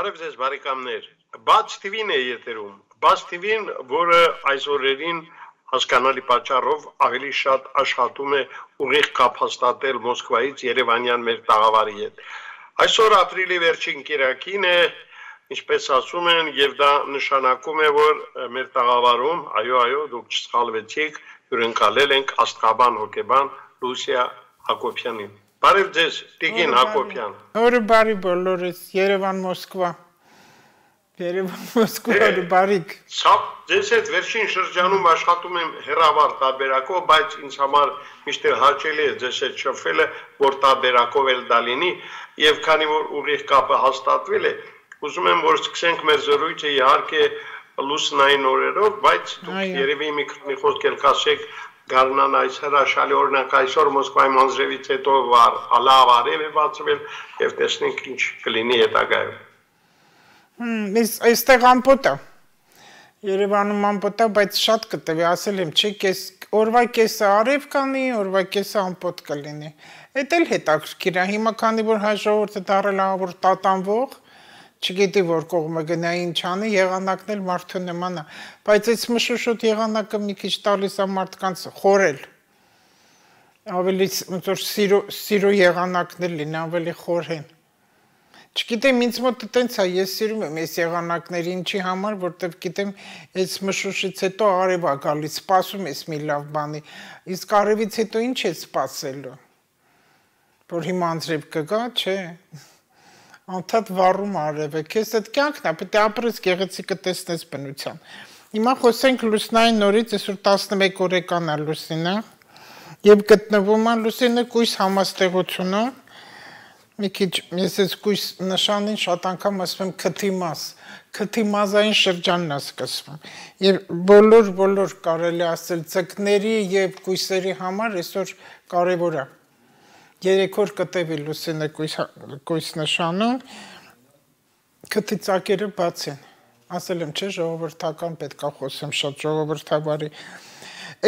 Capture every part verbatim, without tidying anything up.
Բարև ձեզ բարեկամներ, Բաց թիվին է եթերում, Բաց թիվին, որը այս օրերին հասկանալի պատճառով ավելի շատ աշխատում է ուղիղ կապ հաստատել Մոսկվայից Երևանյան մեր տաղավարի հետ։ Այսօր ապրիլի վերջին կիրակին է, ինչպես ասում են, եւ դա նշանակում է, որ մեր տաղավարում, այո, այո, դուք չսխալվեցիք, հյուրընկալել ենք աստղաբան հոգեբան Լուսիա Հակոբյանին։ Բարև ձեզ, Տիգին Հակոբյան։ Օրը բարի բոլորիս, Երևան Մոսկվա։ Երևան Մոսկվա օրը բարիք։ Սա ձեզ հետ վերջին շրջանում աշխատում եմ հեռավար տարբերակով, բայց ինձ համար միշտ հաճելի է ձեզ հետ շփվելը, որ տարբերակով էլ դա լինի, եւ քանի որ ուղիղ կապը հաստատվել է, ուզում եմ որ սկսենք մեր զրույցը իհարկե լուսնային օրերով, բայց դուք երևի մի քանի խոսք էլ կասեք Գարնան այս հրաշալի օրինակ այսօր Մոսկվայի մանձրևից հետո վար լավ արև է բացվել եւ տեսնենք ինչ կլինի հետագայում։ Հմ, այստեղ ամպոտ է։ Երևանում ամպոտ է, բայց շատ կտվի, ասել եմ, չի, կես օրվա կեսը արև կանի, օրվա կեսը ամպոտ կլինի։ Էդ էլ հետաքրքիր է, հիմա քանի որ հայ ժողովուրդը դառել է որ տատանվող, չգիտի որ կողմը գնա ինչ անի, եղանակն էլ մարդու նման է, բայց այս մշուշոտ եղանակը մի քիչ տալիս է մարդկանց խորել, ավելի ոնց որ սիրո սիրո եղանակներ լինեն, ավելի խորեն։ Չգիտեմ, ինձ մոտ տենց է, ես սիրում եմ այս եղանակները ինչի համար, որտեվ գիտեմ, այս մշուշից հետո արև է գալիս, սպասում ես մի լավ բանի, իսկ արևից հետո ինչ է սպասելու, որ հիմա անձրև կգա, չէ։ Անդադ վառում արև է, քեզ այդ կյանքն է, պետք է ապրես գեղեցիկը տեսնես բնության։ Հիմա խոսենք լուսնային նորից, այսօր տասնմեկ օրեկան է Լուսինը, եւ գտնվում է Լուսինը կույս համաստեղությունը, մի քիչ ես այս կույս նշանին շատ անգամ ասում եմ քթի մաս, քթի մազային շրջանն է սկսվում։ Եվ բոլոր բոլոր կարելի ասել ձկների եւ կույսերի համար այսօր կարեւոր է։ Երեք օր կտևի Լուսինը կույս նշանում, քթի ծակերը բաց են, ասել եմ չէ ժողովրդական պետք է խոսեմ շատ ժողովրդավարի։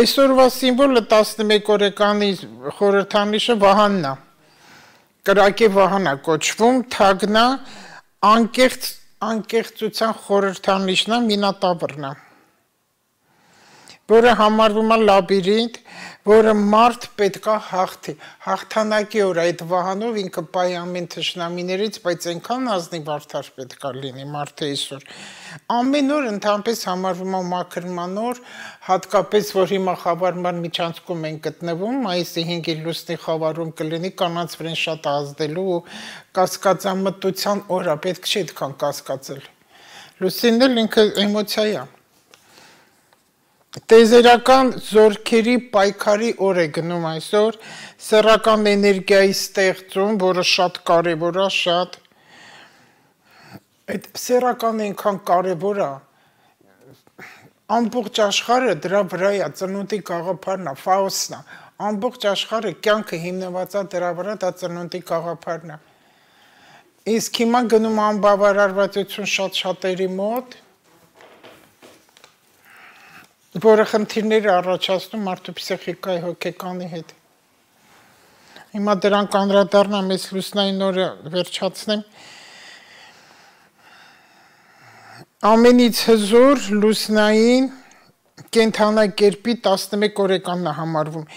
Այսօրվա սիմվոլը տասնմեկ օրեկանի խորհրդանիշը Վահանն է, կրակե Վահան է կոչվում, թագն է, անկեղծ անկեղծության խորհրդանիշն է, Մինոտավրն է, որը համարվում է լաբիրինթ, որը մարդ պետք է հաղթի, հաղթանակի օր այդ Վահանով ինքը պահի ամեն թշնամիներից, բայց այնքան ազնիվ արդար պետք է լինի մարդը այսօր։ Ամեն օր ընդհանրապես համարվում է մաքրման օր, հատկապես որ հիմա խավարման միջանցքում են գտնվում, մայիսի հինգի լուսնի խավարում կլինի կանանց վրան շատ ազդելու ու կասկածամտության օր է, պետք չի այդքան կասկածել։ Լուսինն էլ ինքը էմոցիա է։ Տեզերական զորքերի պայքարի օր է գնում այսօր, սեռական էներգիայի ստեղծում, որը շատ կարևոր է, շատ։ Այդ սեռական այնքան կարևոր է, ամբողջ աշխարհը դրա վրա է, ծնունդի գաղափարն է, Ֆաուստն է, ամբողջ աշխարհը կյանքը հիմնված է դրա վրա, դա ծնունդի գաղափարն է։ Իսկ հիմա գնում անբավարարվածություն շատ շատերի մոտ, որը խնդիրներ է առաջացնում մարդու փսիխիկայի հոգեկանի հետ։ Հիմա դրան կանդրադառնամ, ես լուսնային օրը վերջացնեմ։ Ամենից հզոր լուսնային կենդանակերպի տասնմեկ օրեկանն է համարվում։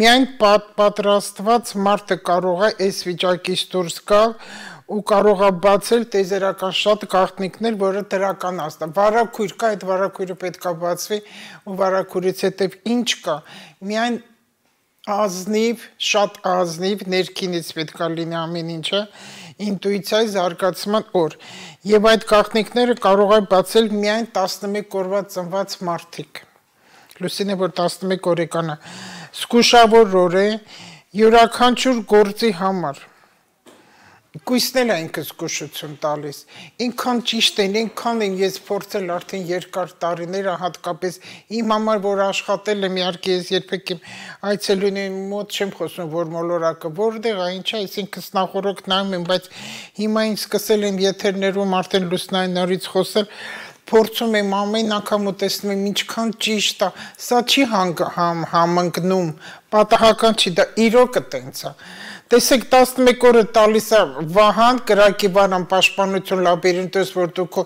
Միայն պատրաստված մարդը կարող է այս վիճակից դուրս գալ ու կարող է բացել տեզերական շատ գաղտնիքներ, որը դրական աստ է։ Վարակույր կա, այդ վարակույրը պետք է բացվի ու վարակույրից հետև ինչ կա։ Միայն ազնիվ, շատ ազնիվ, ներքինից պետք է լինի ամեն ինչը, ինտուիցիայի զարգացման օր։ Եվ այդ գաղտնիքները կարող է բացել միայն տասնմեկ օրվա ծնված մարդիկ։ Լուսինը, որ տասնմեկ օրեկան է, զգուշավոր օր է յուրաքանչյուր գործի համար։ Կույսն է ինքը զգուշություն տալիս, ինքան ճիշտ են, ինքան են ես փորձել արդեն երկար տարիներ, հատկապես իմ համար, որ աշխատել եմ, իհարկե ես երբեք իմ այցելուների մոտ չեմ խոսում, որ մոլորակը որտեղ է, ինչ է, այսինքն նախորդ նայում եմ, բայց հիմա ինձ սկսել եմ եթերներում արդեն լուսնային նորից խոսել, փորձում եմ ամեն անգամ ու տեսնում եմ ինչքան ճիշտ է, սա չի համընկնում, պատահական չի, դա իրոքը տենց է։ Տեսեք տասնմեկ օրը տալիս է Վահան կրակի բանան պաշտպանություն լաբիրինտոս, որ դու քո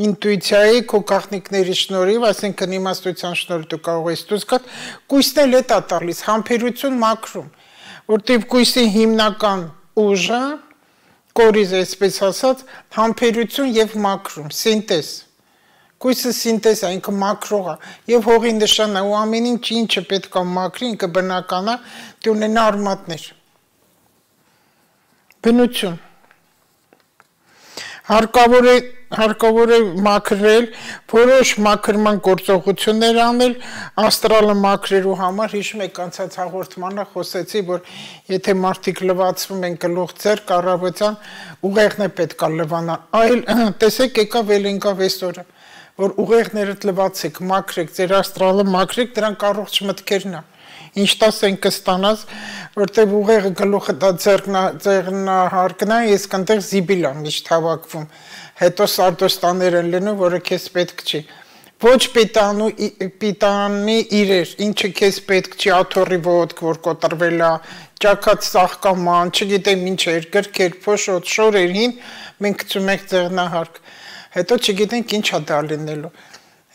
ինտուիցիայի, քո գաղտնիքների շնորհիվ, այսինքն իմաստության շնորհիվ դու կարող ես դուրս գալ, կույսն էլ է տա տալիս, համբերություն մաքրում, որտեղ կույսի հիմնական ուժը, կորիզ այսպես ասած, համբերություն եւ մաքրում, սինտեզ։ Կույսը սինտեզ է, ինքը մաքրող է, եւ հողի նշանն է, ու ամեն ինչ ինչը պետք է մաքրի, ինքը բնական է, դու ունենա արմատներ։ Բնություն։ Հարկավոր է հարկավոր է մաքրել, որոշ մաքրման գործողություններ անել, աստրալը մաքրելու համար, հիշում եք անցած հաղորդմանը խոսեցի, որ եթե մարդիկ լվացվում են գլուխ ձեռք առավոտյան, ուղեղն է պետք է լվանալ, այլ տեսեք եկավ էլ եկավ այսօրը, որ ուղեղներդ լվացեք, մաքրեք, ձեր աստրալը մաքրեք, դրանք առողջ մտքերն է, ինչ տասեն կստանաս, որտեղ ուղեղը գլուխը դա ձեռնահարկն է, ես կնդեղ զիբիլ եմ միշտ հավաքվում, հետո սարտոստաներ են լինում, որը քեզ պետք չի, ոչ պիտանի իրեր, ինչը քեզ պետք չի, աթոռի ոտք, որ կոտրվել է, ճակած ծաղկաման, չգիտեմ ինչ էր, գրքեր, փոշոտ, շորեր հին, մենք գցում ենք ձեռնահարկ, հետո չգիտենք ինչ է դա լինելու։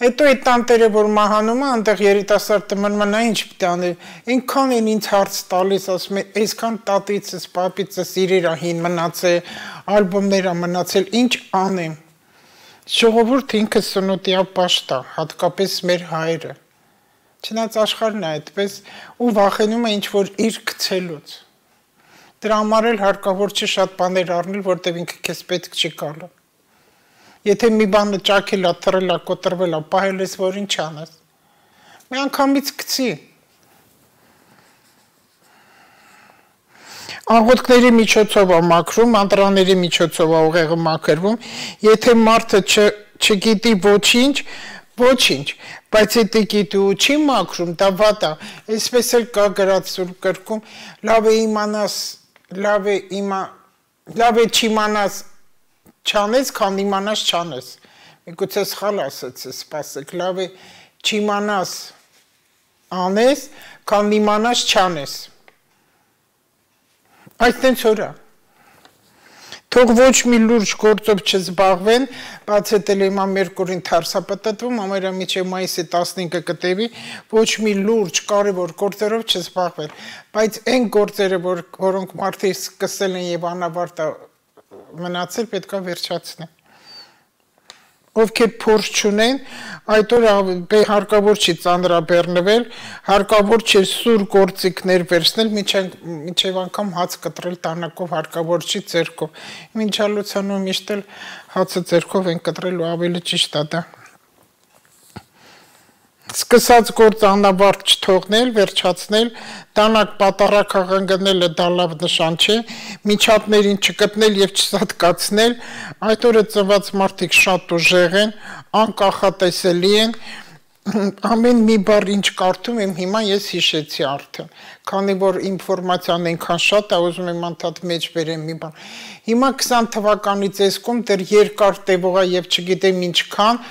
Հետո այդ տանտերը, որ մահանում է, այնտեղ երիտասարդը մնում է, նա ինչ պիտի անի, այնքան են ինձ հարց տալիս, ասում են, այսքան տատիցս, պապիցս իրեր է հին մնացել, ալբոմներ է մնացել, ինչ անեմ։ Ժողովուրդ ինքը սնոտիա պաշտ է, հատկապես մեր հայերը։ Չնայած աշխարհն է այդպես, ու վախենում է ինչ-որ իր գցելուց։ Դրա համար էլ հարկավոր չի շատ բաներ առնել, որտեղ ինքը քեզ պետք չի գալու։ Եթե մի բանը ճաքել է, թռել է, կոտրվել է, պահել ես, որ ինչ անես։ Մի անգամից գցի։ Աղոթքների միջոցով է մաքրում, անդրանների միջոցով է ուղեղը մաքրվում, եթե մարդը չգիտի ոչինչ, ոչինչ, բայց եթե գիտի ու չի մաքրում, դա վատ է, այսպես էլ կա գրած Սուրբ գրքում, լավ է իմանաս, լավ է իմա, լավ է չիմանաս չանես, քան իմանաս չանես, միգուցե սխալ ասեց, սպասեք, լավ է չիմանաս անես, քան իմանաս չանես, այդտենց օրա, թող ոչ մի լուրջ գործով չզբաղվեն, բաց հետել հիմա Մերկուրին թարսապտտվում, ամերա միջև մայիսի տասնինը կտևի, ոչ մի լուրջ կարևոր գործերով չզբաղվեն, բայց այն գործերը, որոնք մարդիկ սկսել են եւ անավարտ մնացել պետք է վերջացնեն։ Ովքեր փորձ չունեն, այդ օրը հարկավոր չի ծանրաբեռնվել, հարկավոր չի սուր գործիքներ վերցնել, մինչև անգամ հաց կտրել տանակով հարկավոր չի ձեռքով։ Մինչ ալուցանում միշտ էլ հացը ձեռքով են կտրել ու ավելի ճիշտ է դա։ Սկսած գործ անավարտ չթողնել, վերջացնել, տանակ պատարակ հաղանգնելը դա լավ նշան չէ, միջատներին չգտնել եւ չսատկացնել, այդ օրը ծնված մարդիկ շատ ուժեղ են, անկախատեսելի են, ամեն մի բառ ինչ կարդում եմ հիմա ես հիշեցի արդեն, քանի որ ինֆորմացիան այնքան շատ է, ուզում եմ անդադ մեջ բերեմ մի բան։ Հիմա քսան թվականից էսկում դեռ երկար տևող է եւ չգիտեմ ինչքան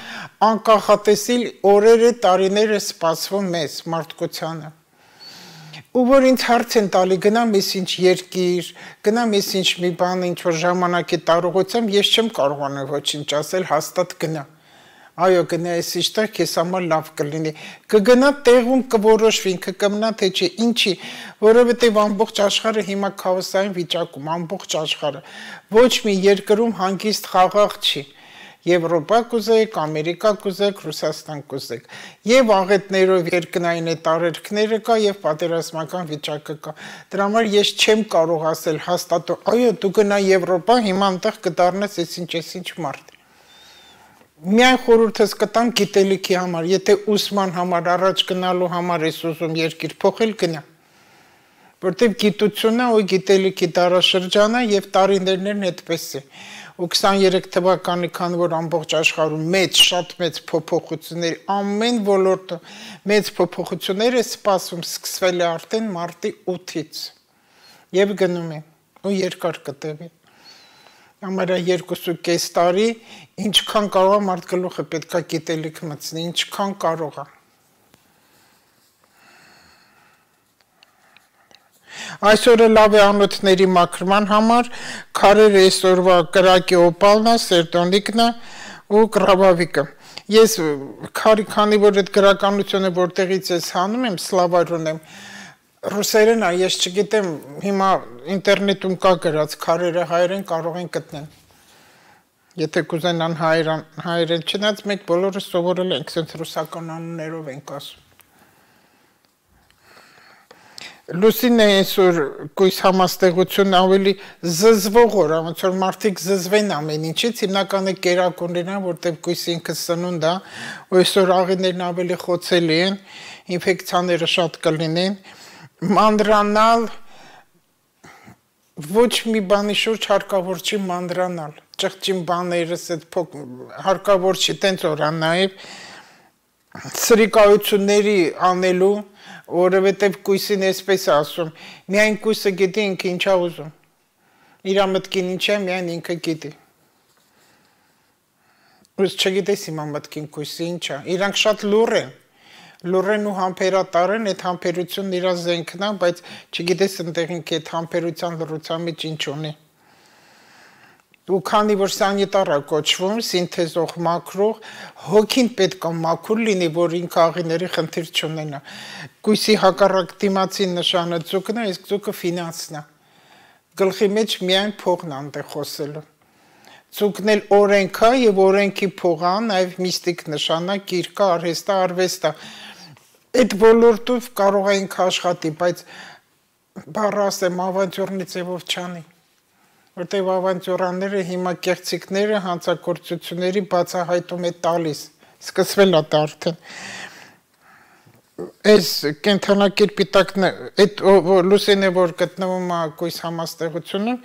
անկախատեսիլ օրերը, տարիները սպասվում մեզ մարդկությանը։ Ու որ ինձ հարց են տալի գնամ ես ինչ երկիր, գնամ ես ինչ մի բան, ինչ որ ժամանակի տարողությամբ, ես չեմ կարողանում ոչինչ ասել, հաստատ գնա։ Այո, գնա ես իստեղ քեզ համար լավ կլինի։ Կգնա տեղում կորոշվի, ինքը կմնա թե չէ, ինչի, որովհետև ամբողջ աշխարհը հիմա քաոսային վիճակում, ամբողջ աշխարհը։ Ոչ մի երկրում հանգիստ խաղաղ չի։ Եվրոպա կուզեք, Ամերիկա կուզեք, Ռուսաստան կուզեք։ Եվ աղետներով երկնային է տարերքները կա եւ պատերազմական վիճակը կա։ Դրա համար ես չեմ կարող ասել հաստատ, այո, դու գնա Եվրոպա, հիմա այնտեղ կդառնաս այսինչ այսինչ մարդ։ Միայն խորհուրդս կտամ գիտելիքի համար, եթե ուսման համար առաջ գնալու համար ես ուզում երկիր փոխել, գնա։ Որտեւ գիտությունը ու գիտելիքի դարաշրջանը եւ տարիներն այդպես է։ Ու քսաներեք թվականի քան որ ամբողջ աշխարհում մեծ, շատ մեծ փոփոխություններ, ամեն ոլորտը մեծ փոփոխություններ է սպասում, սկսվել է արդեն մարտի ութից։ Եվ գնում է, ու երկար կտևի։ Ամերա երկուսու կես տարի, ինչքան կարող է մարդ գլուխը պետք է գիտելիք մտցնի, ինչքան կարող է։ Այսօրը լավ է անոթների մաքրման համար, քարերը այսօրվա կրակի օպալն է, սերտոնիկն է ու կրավավիկը։ Ես քարի քանի որ այդ գրականությունը որտեղից ես հանում եմ, սլավայրուն եմ, ռուսերեն է, ես չգիտեմ, հիմա ինտերնետում կա գրած քարերը հայերեն կարող են գտնել։ Եթե կուզենան հայերեն, հայերեն չնայած մենք բոլորը սովորել ենք, սենց ռուսական անուններով ենք ասում։ Լուսինն է այսօր կույս համաստեղություն ավելի զզվող օր, ոնց որ մարդիկ զզվեն ամեն ինչից, հիմնականը կերակուրներն են, որտեղ կույսը ինքը սնունդ է, ու այսօր աղիներն ավելի խոցելի են, ինֆեկցիաները շատ կլինեն, մանրանալ ոչ մի բանի շուրջ հարկավոր չի մանրանալ, ճղճին բաներս հարկավոր չի, տենց օր նաև սրիկայությունների անելու, որովհետև կույսին այսպես ասում, միայն կույսը գիտի ինքը ինչա ուզում, իրա մտքին ինչ է, միայն ինքը գիտի, ուզ չգիտես հիմա մտքին կույսը ինչա, իրանք շատ լուր են, լուր են ու համբերատար են, այդ համբերությունն իրա զենքն է, բայց չգիտես ընդեղ ինքը այդ համբերության լրության մեջ ինչ ունի, ու քանի որ սանիտարա կոչվում, սինթեզող մաքրող, հոգին պետք է մաքուր լինի, որ ինքը աղիների խնդիր չունենա։ Կույսի հակառակ դիմացի նշանը ձուկն է, իսկ ձուկը ֆինանսն է։ Գլխի մեջ միայն փողն է այնտեղ խոսելու։ Ձուկն էլ օրենք է եւ օրենքի փող է, նաեւ միստիկ նշան է, գիրք է, արհեստ է, արվեստ է։ Այդ ոլորտով կարող է ինքը աշխատի, բայց բառը ասեմ ավանտյուրնի ձևով չանի։ Որտեղ ավանտյուրաները հիմա կեղծիքները հանցագործությունների բացահայտում է տալիս, սկսվել է դա արդեն։ Այս կենթանակերպի տակն այդ լուսին է, որ գտնվում է կույս համաստեղությունում,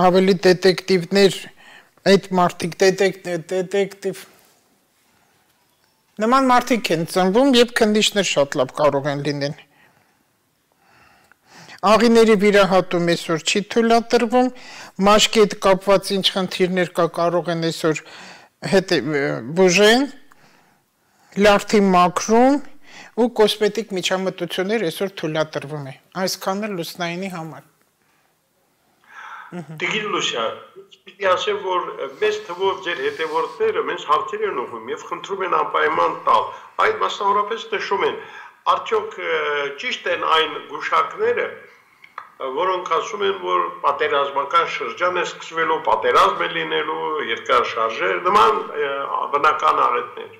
ավելի դետեկտիվներ, այդ մարդիկ դետեկտիվ, նման մարդիկ են ծնվում և քննիչներ շատ լավ կարող են լինեն։ Աղիների վիրահատում այսօր չի թույլատրվում, մաշկի հետ կապված ինչ խնդիրներ կա կարող են այսօր բուժեն, լարդի մաքրում ու կոսմետիկ միջամտություններ այսօր թույլատրվում է, այսքանը լուսնայինի համար։ Տիկին Լուսիա, պիտի ասեմ, որ մեծ թվով ձեր հետևորդները մեզ հարցեր են ուղղում և խնդրում են անպայման տալ, այդ մասնավորապես նշում են, արդյոք ճիշտ են այն գուշակները, որոնք ասում են, որ պատերազմական շրջան է սկսվելու, պատերազմ է լինելու, երկար շարժեր, նման բնական աղետներ։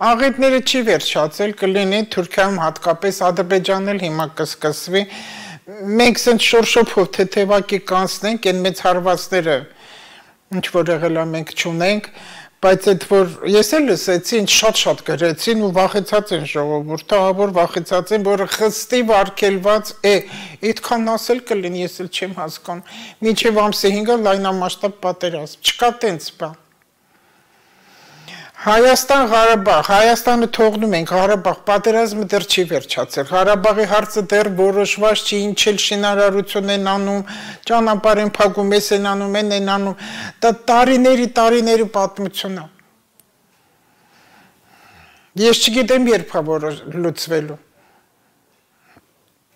Աղետները չի վերջացել, կլինի Թուրքիայում հատկապես Ադրբեջանն էլ հիմա կսկսվի, մենք սենց շորշոփով թեթևակի կանցնենք, այն մեծ հարվածները ինչ որ եղել է մենք չունենք, բայց այդ որ ես էլ լսեցի, ինչ շատ-շատ գրեցին ու վախեցած են ժողովուրդը, որ վախեցած են, որ խստի վարգելված է, այդքան ասել կլինի, ես էլ չեմ հասկանում, մինչև ամսի հինգը լայնամասշտաբ պատերազմ, չկա տենց բան։ Հայաստան, Ղարաբաղ, Հայաստանը թողնում ենք, Ղարաբաղ, պատերազմը դեռ չի վերջացել, Ղարաբաղի հարցը դեռ որոշված չի, ինչ էլ շինարարություն են անում, ճանապարհ են փակում, էս են անում, են են անում, դա տարիների, տարիների պատմություն է։ Ես չգիտեմ երբ է որ լուծվելու։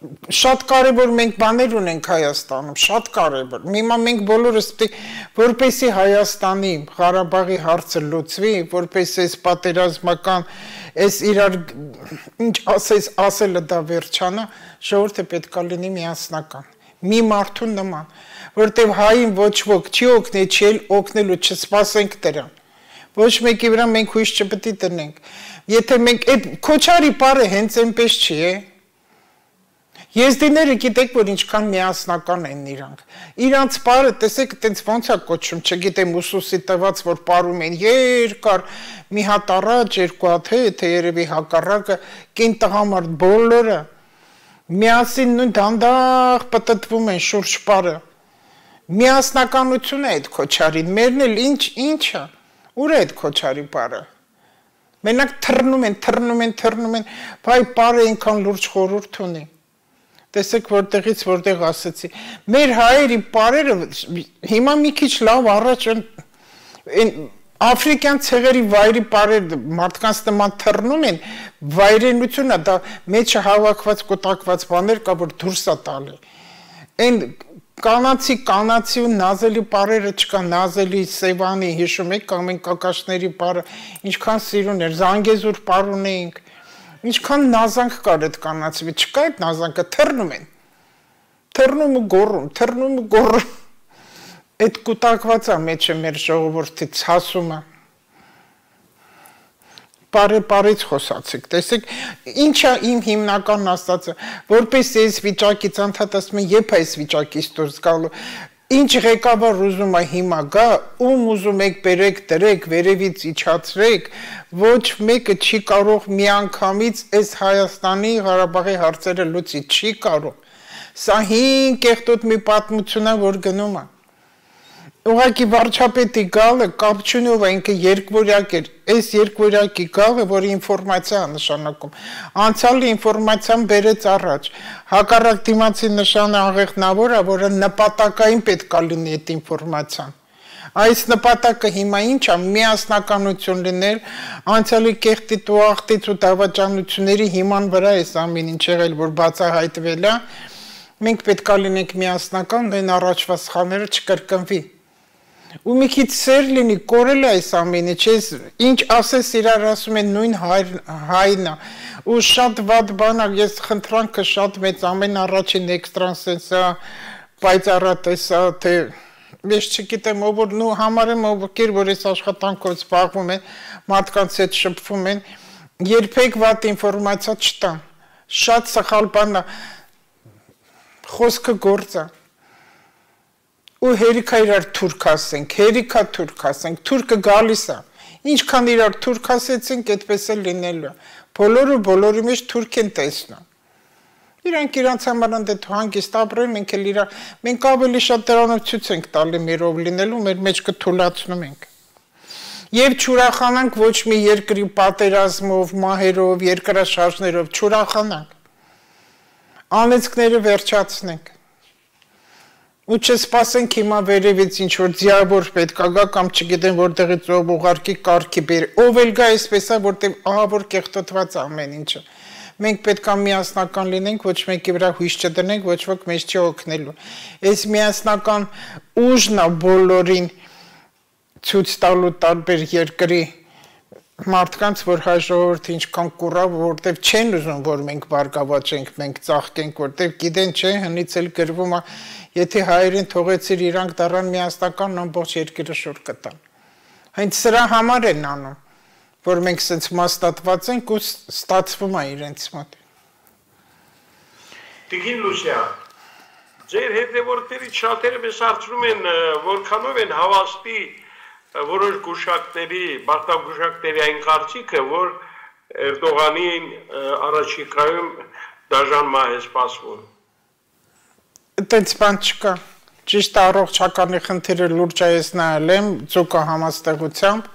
Շատ կարևոր մենք բաներ ունենք Հայաստանում, շատ կարևոր։ Հիմա մենք բոլորս պետք է որպեսզի Հայաստանի Ղարաբաղի հարցը լուծվի, որպեսզի այս պատերազմական, այս իրար ինչ ասես ասելը դա վերջանա, ժողովուրդը պետք է լինի միասնական։ Մի մարդու նման, որտեղ հային ոչ ոք չի օգնի, չի էլ օգնելու, չսպասենք դրան։ Ոչ մեկի վրա մենք հույս չպետք է տնենք։ Եթե մենք այդ Քոչարի բառը հենց այնպես չի, է։ Եզդիները գիտեք, որ ինչքան միասնական են իրանք։ Իրանց պարը, տեսեք, տենց ոնց է կոչում, չգիտեմ ուսուսի տված, որ պարում են երկար, մի հատ առաջ, երկու հատ հետ, երևի հակառակը, կին տղամարդ բոլորը, միասին նույն դանդաղ պտտվում են շուրջ պարը։ Միասնականություն է այդ Քոչարին, մերն էլ ինչ, ինչ է, ուր է այդ Քոչարի պարը։ Մենակ թռնում են, թռնում են, թռնում են, բայ պարը ինքան լուրջ խորհուրդ ունի։ Տեսեք որտեղից որտեղ ասացի, մեր հայերի պարերը հիմա մի քիչ լավ առաջ Աֆրիկյան ցեղերի վայրի բարեր մարդկանց նման թռնում են, վայրենությունը դա մեջը հավաքված կուտակված բաներ կա, որ դուրս է տալի։ Այն կանացի կանացի ու նազելի բարերը չկա, նազելի Սևանի հիշում եք, կամ են կակաշների բարը, ինչքան սիրուն էր, Զանգեզուր բար ունեինք, ինչքան նազանք կար այդ կանացի, չկա այդ նազանքը, թռնում են, թռնում ու գոռում, թռնում ու գոռում։ Այդ կուտակված է մեջը մեր ժողովրդի ցասումը։ Բարե բարից խոսացիք, տեսեք, ինչա իմ հիմնական աստածը, որպես ես վիճակից անդադասում եմ, երբ այս վիճակից դուրս գալու, ինչ ղեկավար ուզում է հիմա գա, ում ուզում եք բերեք, դրեք, վերևից իջացրեք, ոչ մեկը չի կարող միանգամից այս Հայաստանի Ղարաբաղի հարցերը լուծի, չի կարող։ Սա հին կեղտոտ մի պատմություն է, որ գնում է։ Ուղղակի վարչապետի գալը կապ չունի, ով ինքը երկվորյակ էր, այս երկվորյակի գալը, որ ինֆորմացիա է նշանակում, անցյալի ինֆորմացիան բերեց առաջ, հակառակ դիմացի նշանը աղեղնավոր է, որը նպատակային պետք է լինի այդ ինֆորմացիան։ Այս նպատակը հիմա ինչ է, միասնականություն լինել, անցյալի կեղտից ու աղտից ու դավաճանությունների հիման վրա էս ամեն ինչ եղել, որ բացահայտվել է, մենք պետք է լինենք միասնական, նույն առաջվա սխալները չկրկնվի։ Ու մի քիչ սեր լինի, կորել է այս ամենը, չես ինչ ասես իրար ասում են նույն հայն է, ու շատ վատ բան է, ես խնդրանքը շատ մեծ ամեն առաջին էքստրանսենսա, պայծառատեսա, թե ես չգիտեմ, ով որ նու համար եմ ովքեր, որ այս աշխատանքով զբաղվում են, մարդկանց հետ շփվում են, երբեք վատ ինֆորմացիա չտան, շատ սխալ բան է, խոսքը գործ է։ Ու հերիքա իրար թուրք ասենք, հերիքա թուրք ասենք, թուրքը գալիս է, ինչքան իրար թուրք ասեցինք, այդպես էլ լինելու է, բոլորը բոլորի մեջ թուրք են տեսնում, իրանք իրանց համար ընդետ հանգիստ ապրել, մենք էլ իրար, մենք ավելի շատ դրանով ցույց ենք տալի մերով լինելու, մեր մեջքը թուլացնում ենք, և չուրախանանք ոչ մի երկրի պատերազմով, մահերով, երկրաշարժներով, չուրախանանք, անեծքները վերջացնենք, ու չսպասենք հիմա վերևից ինչ-որ ձիավոր պետք է գա կամ չգիտեմ որտեղից ով ուղարկի կարգի բերի, ով էլ գա այսպես է, որտեղ ահա որ կեղտոտված ամեն ինչը։ Մենք պետք է միասնական լինենք, ոչ մեկի վրա հույս չդնենք, ոչ ոք մեզ չի օգնելու։ Այս միասնական ուժն է բոլորին ցույց տալու տարբեր երկրի մարդկանց, որ հայ ժողովուրդը ինչքան կուռա, որտեղ չեն ուզում, որ մենք բարգավաճենք, մենք ծաղկենք, որտեղ գիտեն, չէ, հնից էլ գրվում է, եթե հայերին թողեցիր իրանք դառան միասնական, ամբողջ երկիրը շուռ կտան։ Հենց սրա համար են անում, որ մենք սենց մաստատված ենք ու ստացվում է իրենց մոտ։ Տիկին Լուսիա, ձեր հետևորդներից շատերը մեզ հարցնում են, որքանով են հավաստի որոշ գուշակների, բարտագուշակների այն կարծիքը, որ Էրդողանի առաջիկայում դաժան մահ է սպասվում։ Այդպես բան չկա, ճիշտ առողջականի խնդիրը լուրջ ես նայել եմ, ձուկա համաստեղությամբ,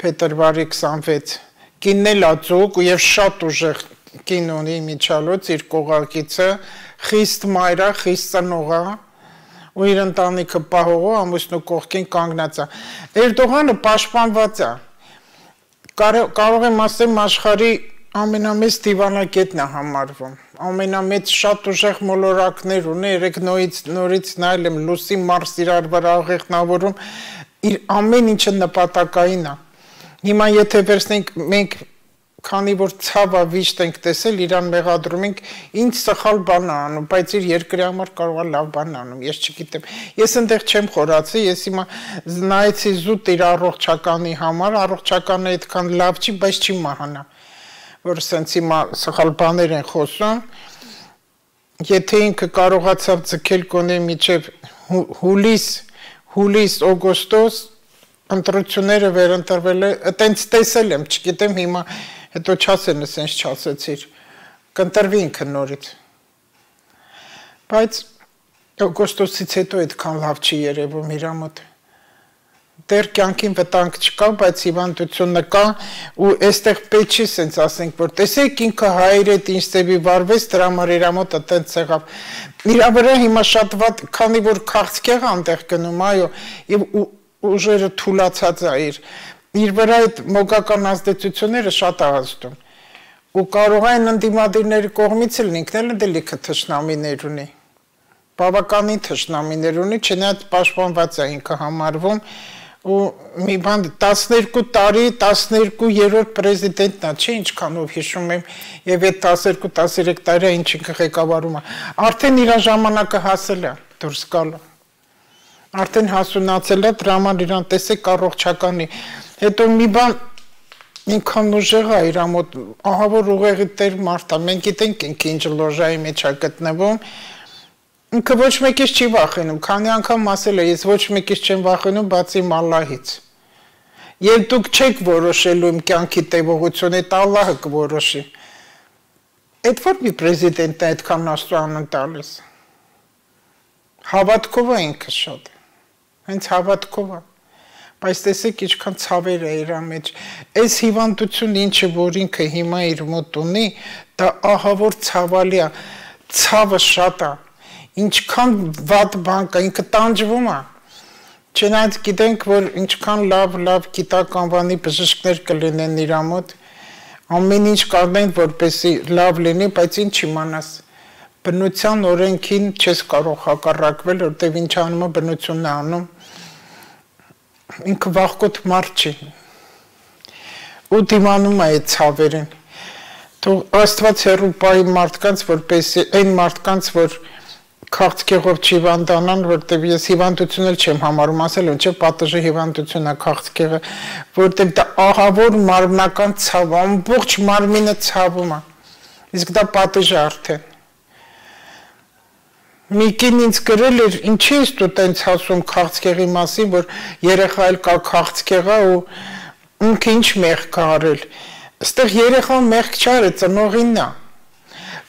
փետրվարի քսանվեց, կինն էլ ա ձուկ և շատ ուժեղ կին ունի միջալոց, իր կողակիցը, խիստ մայր է, խիստ ծնող է, ու իր ընտանիքը պահողը ամուսնու կողքին կանգնած է։ Էրդողանը պաշտպանված է, կարող եմ ասեմ աշխարհի ամենամեծ դիվանագետն է համարվում, ամենամեծ շատ ուժեղ մոլորակներ ունի, երեք նորից նայել եմ լուսի մարս իրար վրա աղեղնավորում, իր ամեն ինչը նպատակային է։ Հիմա եթե վերցնենք մենք քանի որ ցավա վիշտ ենք տեսել, իրան մեղադրում ենք, ինչ սխալ բան է անում, բայց իր երկրի համար կարող է լավ բան անում, ես չգիտեմ։ Ես այնտեղ չեմ խորացի, ես հիմա նայեցի զուտ իր առողջականի համար, առողջականը այդքան լավ չի, բայց չի մահանա, որ սենց հիմա սխալ բաներ են խոսում։ Եթե ինքը կարողացավ ձգել կոնե միջև հուլիս, հուլիս, օգոստոս, ընտրությունները վերընտրվել է, այտենց տեսել եմ, չգիտեմ հիմա հետո չասեն, սենց չասեցիր, կընտրվի ինքը նորից, բայց օգոստոսից հետո այդքան լավ չի երևում իրա մոտ, դեռ կյանքին վտանգ չկա, բայց հիվանդությունը կա ու այստեղ պետք չի սենց ասենք, որ տեսեք ինքը հայր հետ ինչ ծեվի վարվեց, դրա համար իրա մոտ այտենց եղավ, իրա վրա հիմա շատ վատ, քանի որ քաղցկեղ անտեղ գնում, այո, և ուժերը թուլացած է իր իր վրա այդ մոգական ազդեցությունները շատ ազդում ու կարող են ընդդիմադիրների կողմից էլ ինքն էլ լիքը թշնամիներ ունի բավականին թշնամիներ ունի չնայած պաշտպանված է ինքը համարվում ու մի բան տասներկու տարի տասներկու-երրորդ պրեզիդենտն է չէ ինչքանով հիշում եմ եւ այդ տասներկու տասներեք տարի ինչ ինքը ղեկավարում է արդեն իր ժամանակը հասել է դուրս գալու արդեն հասունացել է դրա համար իրան տեսեք առողջականի հետո մի բան ինքան ուժեղ է իր մոտ ահա որ ուղեղի տեր մարդ է մենք գիտենք ինքը ինչ լոժայի մեջ է գտնվում ինքը ոչ մեկից չի վախենում քանի անգամ ասել է ես ոչ մեկից չեմ վախենում բացի Ալլահից եւ դուք չեք որոշելու իմ կյանքի տևողությունը այդ Ալլահը կորոշի այդ որ մի պրեզիդենտն է այդքան աստուան տալիս հավատքով է ինքը շատ հենց հավատքով է բայց տեսեք ինչքան ցավեր է իր մեջ այս հիվանդությունը ինչը որ ինքը հիմա իր մոտ ունի դա ահա որ ցավալի է ցավը շատ է ինչքան վատ բան կա ինքը տանջվում է չնայած գիտենք որ ինչքան լավ լավ գիտականվանի բժիշկներ կլինեն իր մոտ ամեն ինչ կանեն որպեսի լավ լինի բայց ինչ իմանաս բնության օրենքին չես կարող հակառակվել որտեվ ինչ անում է բնությունն է անում ինքը վախկոտ մարդ չի ու դիմանում է այդ ցավերին թող Աստված հեռու պահի մարդկանց որպեսի այն մարդկանց որ քաղցկեղով չհիվանդանան որտեվ ես հիվանդություն էլ չեմ համարում ասել ու չէ պատժի հիվանդություն է քաղցկեղը որտեվ դա ահավոր մարմնական ցավ ամբողջ մարմինը ցավում է իսկ դա պատժ է արդեն Միկին ինձ գրել էր, ինչի ես դու տենց ասում քաղցկեղի մասին, որ երեխա էլ կա քաղցկեղա ու ինքը ինչ մեղք է արել։ Այստեղ երեխան մեղք չարել, ծնողինն է։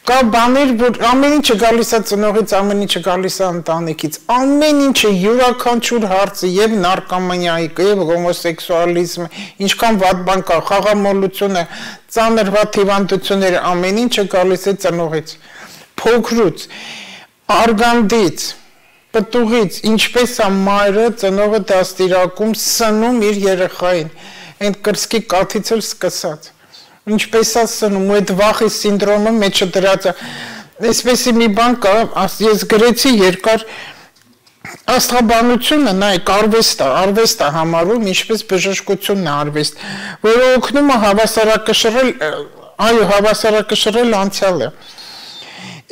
Կա բաներ, որ ամեն ինչը գալիս է ծնողից, ամեն ինչը գալիս է ընտանիքից։ Ամեն ինչը յուրաքանչյուր հարցը, եւ նարկոմանիայի, եւ հոմոսեքսուալիզմը, ինչքան վատ բան կա, խաղամոլությունը, ծանր վատ հիվանդությունները, ամեն ինչը գալիս է ծնողից։ Փոքրուց Արգանդից, պտուղից, ինչպես է մայրը ծնողը դաստիարակում սնում իր երեխային, այն կրսկի կաթից էլ սկսած, ինչպես է սնում, ու այդ վախի սինդրոմը մեջը դրած է, այսպեսի մի բան կա, ես գրեցի երկար աստղաբանությունը, նայեք, արվեստ է, արվեստ է համարում, ինչպես բժշկությունն է արվեստ, որը օգնում է հավասարակշռել, այո, հավասարակշռել անցյալը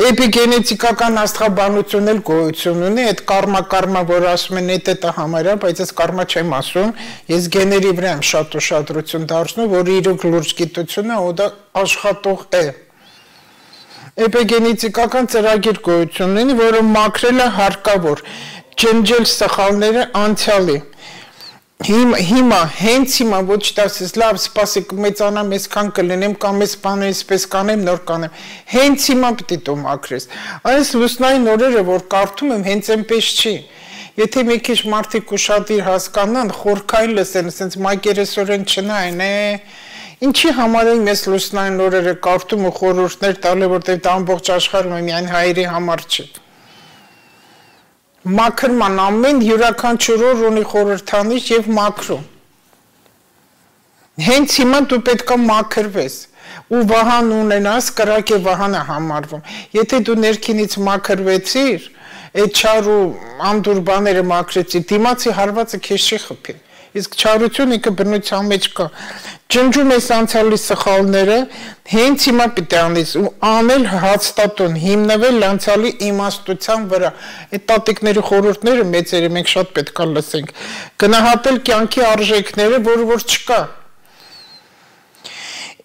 Էպիգենետիկական աստղաբանություն էլ գոյություն ունի, այդ կարմա-կարմա, որ ասում են այդ է համարյա, բայց ես կարմա չեմ ասում, ես գեների վրա եմ շատ ուշադրություն դարձնում, որ իրոք լուրջ գիտությունը ու դա աշխատող է։ Էպիգենետիկական ծրագիր գոյություն ունի, որը մաքրել է հարկավոր, ջնջել սխալները անցյալի։ Հիմա, հենց հիմա, ոչ տասես, լավ, սպասեք, մեծանամ, այսքան կլինեմ, կամ այս բանը այսպես կանեմ, նոր կանեմ, հենց հիմա պիտի դու մաքրես, այս լուսնային օրերը, որ կարդում եմ, հենց այնպես չի, եթե մի քիչ մարդիկ ուշադիր հասկանան, խորքային լսեն, ասենց մակերեսորեն չնային, ինչի համար եմ ես լուսնային օրերը կարդում ու խորհուրդներ տալու, որտեղ դա ամբողջ աշխարհում է, միայն հայերի համար չի Մաքրման ամեն յուրաքանչյուր օր ունի խորհրդանիշ եւ մաքրում։ Հենց հիմա դու պետք է մաքրվես ու վահան ունենաս, կրակ է վահանը համարվում։ Եթե դու ներքինից մաքրվեցիր, այդ չար ու անդուր բաները մաքրեցի, դիմացի հարվածը քեզ չի խփի։ Իսկ չարությունը ինքը բնության մեջ կա։ Ջնջում ես անցյալի սխալները, հենց հիմա պիտի անես ու անել հաստատուն, հիմնվել անցյալի իմաստության վրա։ Այդ տատիկների խորհուրդները մեծերը մենք շատ պետք է լսենք։ Գնահատել կյանքի արժեքները, որը որ չկա։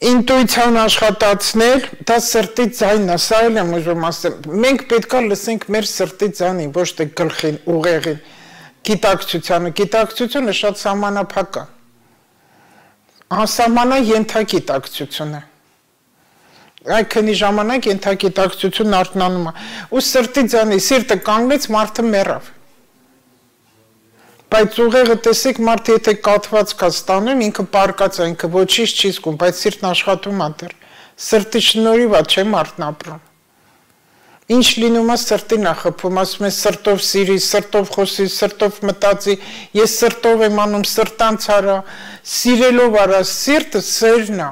Ինտուիցիան աշխատացնել, դա սրտի ձայնն է, սա էլ եմ ուզում ասեմ։ Մենք պետք է լսենք մեր սրտի ձայնին, ոչ թե գլխին, ուղեղին։ Գիտակցությանը, գիտակցությունը շատ սահմանափակ է, անսահմանա ենթագիտակցություն է, այդ քանի ժամանակ ենթագիտակցությունն արթնանում է, ու սրտի ձայնի, սիրտը կանգնեց, մարդը մեռավ, բայց ուղեղը տեսեք, մարդը եթե կաթված կա ստանում, ինքը պարկած է, ինքը ոչինչ չի զգում, բայց սիրտն աշխատում է դեռ, սրտի շնորհիվ է, չէ մարդն ապրում, Ինչ լինում է սրտին է խփում, ասում է սրտով սիրի, սրտով խոսի, սրտով մտածի, ես սրտով եմ անում, սրտանց արա, սիրելով արա, սիրտը սերն է։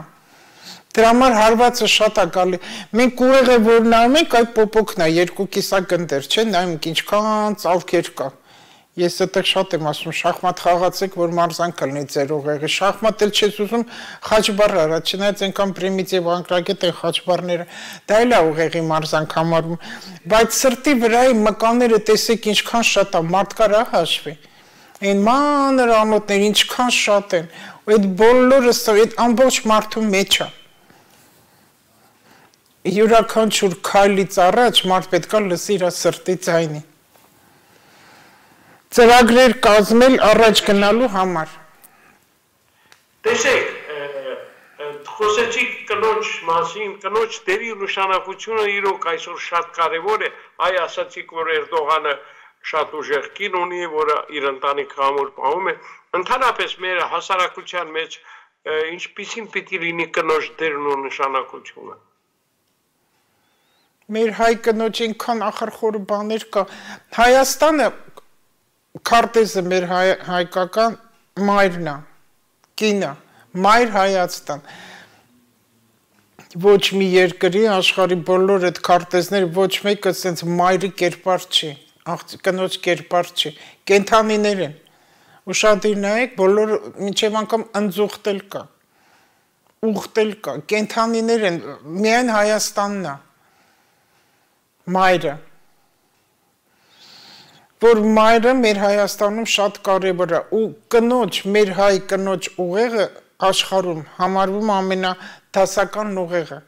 Դրա համար հարվածը շատ է գալի։ Մենք ուղեղը որ նայում ենք, այդ պոպոկն է, երկու կիսագնդեր, չէ՞, նայում ենք ինչքան ծալքեր կա։ Ես այդտեղ շատ եմ ասում, շախմատ խաղացեք, որ մարզանք լինի ձեր ուղեղը։ Շախմատ էլ չես ուզում խաչբար արա, չնայած այնքան պրիմիտիվ անկրագետ են խաչբարները, դա էլ է ուղեղի մարզանք համարում։ Բայց սրտի վրայի մկանները տեսեք ինչքան շատ է, մարդ կարա հաշվի։ Այն մանր անոթներ ինչքան շատ են, ու այդ բոլորը այդ ամբողջ մարդու մեջ է։ Յուրաքանչյուր քայլից առաջ մարդ պետք է լսի իր սրտի ձայնի։ Ծրագրեր կազմել առաջ գնալու համար։ Տեսեք, խոսեցիք կնոջ մասին, կնոջ դերի նշանակությունը իրոք այսօր շատ կարևոր է, այ ասացիք, որ Էրդողանը շատ ուժեղ կին ունի, որը իր ընտանիքը ամուր պահում է, ընդհանրապես մեր հասարակության մեջ ինչպիսին պիտի լինի կնոջ դերն ու նշանակությունը։ Մեր հայ կնոջ ինքան ախրխոր բաներ կա, Հայաստանը քարտեզը մեր հայկական մայրն է, կինը, մայր Հայաստան, ոչ մի երկրի աշխարհի բոլոր այդ քարտեզները ոչ մեկը սենց մայրի կերպար չի, կնոջ կերպար չի, կենթանիներ են, ուշադիր նայեք, բոլոր մինչև անգամ ընձուղտել կա, ուղտել կա, կենթանիներ են, միայն Հայաստանն է, մայրը, որ մայրը մեր Հայաստանում շատ կարևոր է ու կնոջ, մեր հայ կնոջ ուղեղը աշխարհում համարվում ամենադասական ուղեղը,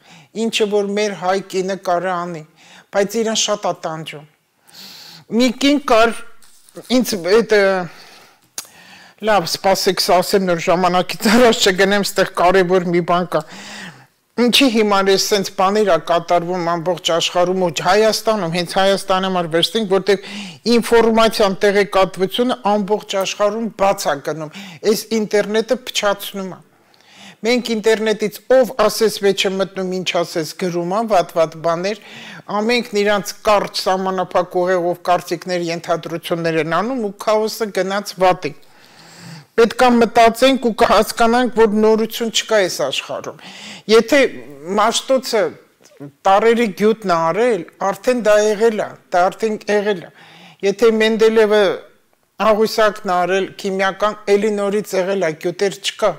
ինչը որ մեր հայ կինը կարա անի, բայց իրան շատ է տանջում։ Մի կին կար, ինձ այդ լավ, սպասեք, ասեմ նոր ժամանակից առաջ չգնեմ, ստեղ կարևոր մի բան կա։ Ինչի հիմար է սենց բաներ է կատարվում ամբողջ աշխարհում ու Հայաստանում, հենց Հայաստանը համար վերցնենք, որտեղ ինֆորմացիան տեղեկատվությունը ամբողջ աշխարհում բաց է գնում, այս ինտերնետը փչացնում է։ Մենք ինտերնետից ով ասես վեճը մտնում, ինչ ասես գրում է, վատ-վատ բաներ, ամենքն իրանց կարճ սահմանափակ ուղեղով կարծիքներ, ենթադրություններ են անում ու քաոսը գնաց վատի։ Պետք է մտածենք ու կհասկանանք, որ նորություն չկա այս աշխարհում։ Եթե Մաշտոցը տարերի գյուտն է արել, արդեն դա եղել է, դա արդեն եղել է։ Եթե Մենդելևը աղյուսակն է արել, քիմիական, էլի նորից եղել է, գյուտեր չկա։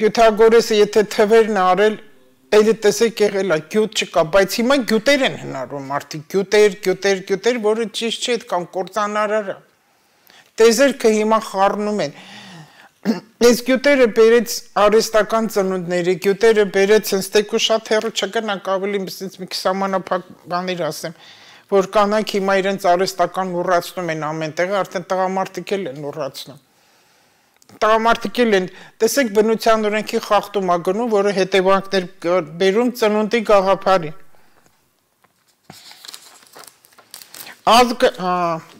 Պյութագորեսը եթե թվերն է արել, էլի տեսեք եղել է, գյուտ չկա, բայց հիմա գյուտեր են հնարում, արդի գյուտեր, գյուտեր, գյուտեր, որը ճիշտ չէ, կամ կործանարար է։ Տեզերքը հիմա խառնում են։ Այս գյուտերը բերեց արհեստական ծնունդների, գյուտերը բերեց ինստեկու շատ հեռու չգնանք ավելի մի սահմանափակ բաներ ասեմ, որ կանայք հիմա իրենց արհեստական ուռացնում են ամեն տեղը, արդեն տղամարդիկ էլ են ուռացնում։ Տղամարդիկ էլ են, տեսեք բնության օրենքի խախտում ա գնում, որը հետևանքներ բերում ծնունդի գաղափարի։ Ազգը,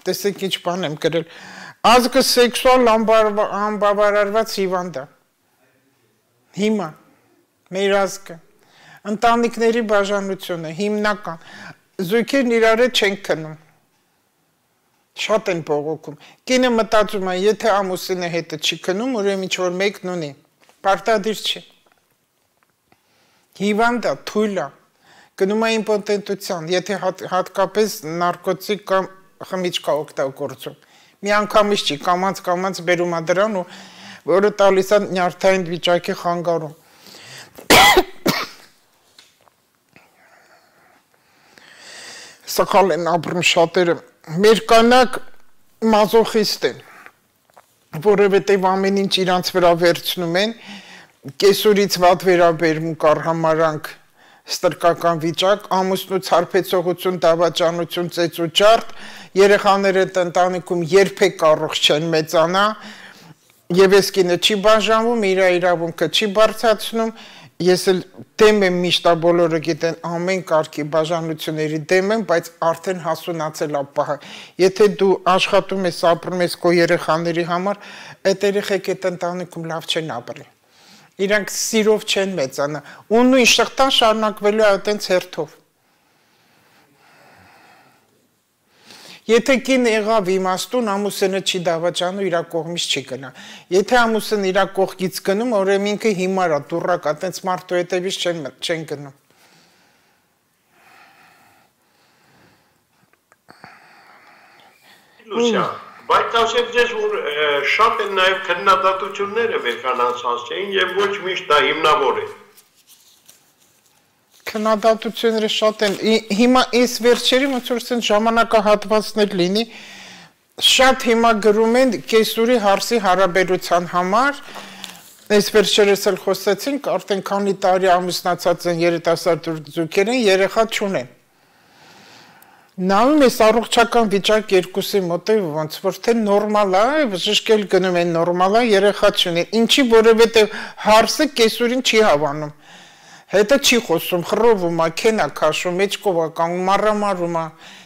տեսեք ինչ բան եմ գրել, ազգը սեքսուալ անբավարարված հիվանդ է, հիմա, մեր ազգը, ընտանիքների բաժանությունը, հիմնական, զույգերն իրար հետ չեն քնում, շատ են բողոքում, կինը մտածում է, եթե ամուսինը հետը չի քնում, ուրեմն ինչ-որ մեկն ունի, պարտադիր չի, հիվանդ է, թույլ է, գնում է իմպոտենտության, եթե հատկապես նարկոտիկ կամ խմիչք է օգտագործում, մի անգամից չի, կամած-կամած բերում է դրան ու որը տալիս է նյարդային վիճակի խանգարում։ Սխալ են ապրում շատերը, մեր կանայք մազոխիստ են, որովհետև ամեն ինչ իրանց վրա վերցնում են, կեսուրից վատ վերաբերմունք արհամարանք, ստրկական վիճակ, ամուսնուց հարբեցողություն, դավաճանություն, ծեծ ու ջարդ, երեխաները ընտանիքում երբեք առողջ չեն մեծանա, եւ այս կինը չի բաժանվում, իր իրավունքը չի բարձրացնում, ես էլ դեմ եմ միշտ բոլորը գիտեն ամեն կարգի բաժանությունների դեմ եմ, բայց արդեն հասունացել է պահը։ Եթե դու աշխատում ես, ապրում ես քո երեխաների համար, այդ երեխեք այդ ընտանիքում լավ չեն ապրի։ Իրանք սիրով չեն մեծանա, ու նույն շղթան շարունակվելու է այդպես հերթով։ Եթե կին եղավ իմաստուն, ամուսինը չի դավաճանում, իր կողմից չի գնա։ Եթե ամուսինը իր կողքից գնում, ուրեմն ինքը հիմար է, դուրակ է, այտենց մարդու հետևից չեն չեն գնում։ Լուսիա, բայց ասեմ ձեզ, որ շատ են նաև քննադատությունները վերկանացած չէին եւ ոչ միշտ դա հիմնավոր է։ Քննադատությունները շատ են, հիմա այս վերջերի ոնց որ ասեն ժամանակահատվածներ լինի, շատ հիմա գրում են կեսուրի հարսի հարաբերության համար, այս վերջերս էլ խոսեցինք, արդեն քանի տարի ամուսնացած են երիտասարդ զույգեր են, երեխա չունեն։ Նայում ես առողջական վիճակ երկուսի մոտ է ոնց որ թե նորմալ է, բժշկել գնում են նորմալ է, երեխա չունեն։ Ինչի որովհետև հարսը կեսուրին չի հավանում։ Հետը չի խոսում, խռովում է, քեն է քաշում, մեջքով է կանգնում, մառամարում է,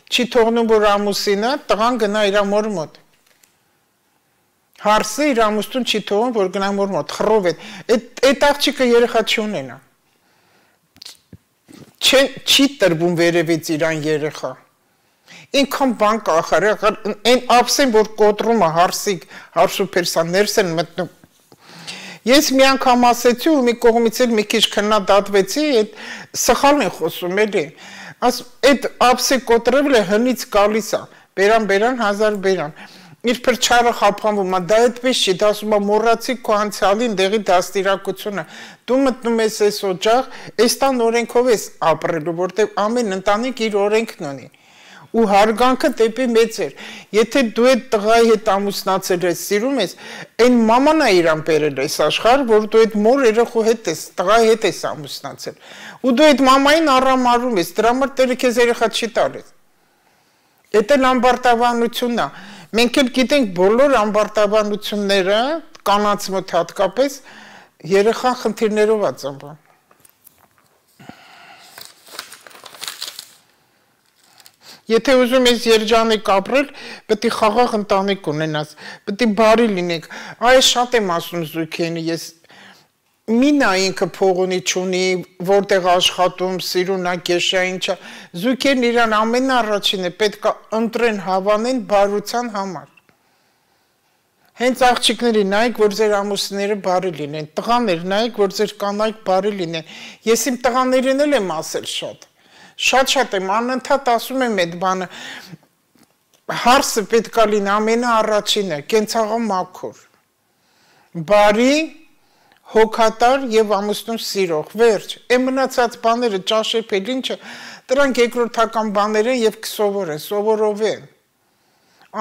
չի թողնում, որ ամուսինը տղան գնա իր մոր մոտ։ Հարսը իր ամուսնուն չի թողում, որ գնա մոր մոտ, խռով է։ Այդ աղջիկը երեխա չունենա։ Չի տրվում վերևից իրան երեխա։ Ինքան բան կախար, այն ապսեն, որ կոտրում է հարսիկ, հարսուպերսան ներս են մտնում։ Ես մի անգամ ասեցի ու մի կողմից էլ մի քիչ քննադատվեցի, այդ սխալն է խոսում էլի։ Այդ ապսի կոտրել է հնից գալիս է, բերան, բերան, հազար բերան։ Իր փրչարը խափանվում է, դա այդպես չի, դա ասում է մոռացի քո անցյալին դեղի դաստիարակությունը։ Դու մտնում ես այս օջախ, այս տան օրենքով ես ապրելու, որտեղ ամեն ընտանիք իր օրենքն ունի։ Ու հարգանքը դեպի մեծ էր։ Եթե դու այդ տղայի հետ ամուսնացել ես, սիրում ես, այն մաման է իրան բերել այս աշխարհ, որ դու այդ մոր երեխու հետ ես, տղայի հետ ես ամուսնացել։ Ու դու այդ մամային առամարում ես, դրա համար Տերը քեզ երեխա չի տալիս։ Դա ամբարտավանությունն է։ Մենք էլ գիտենք բոլոր ամբարտավանությունները, կանանց մոտ հատկապես երեխան խնդիրներով է ծնվում։ Եթե ուզում ես երջանիկ ապրել, պետք է խաղաղ ընտանիք ունենաս, պետք է բարի լինեք։ Այս շատ եմ ասում զույգերին, ես մի նա ինքը փող ունի չունի, որտեղ աշխատում, սիրուն է, կեշա ինչա, զույգերն իրան ամենաառաջինը պետք է ընտրեն, հավանեն բարության համար։ Հենց աղջիկների նայեք, որ ձեր ամուսինները բարի լինեն, տղաներ նայեք, որ ձեր կանայք բարի լինեն։ Ես իմ տղաներին էլ եմ ասել շատ։ Շատ-շատ եմ, անընդհատ ասում եմ այդ բանը, հարսը պետք է լինի ամենաառաջինը, կենցաղը մաքուր, բարի, հոգատար և ամուսնուն սիրող, վերջ, այն մնացած բաները ճաշեպել ինչը, դրանք երկրորդական բաներ են և կսովոր են, սովորով են,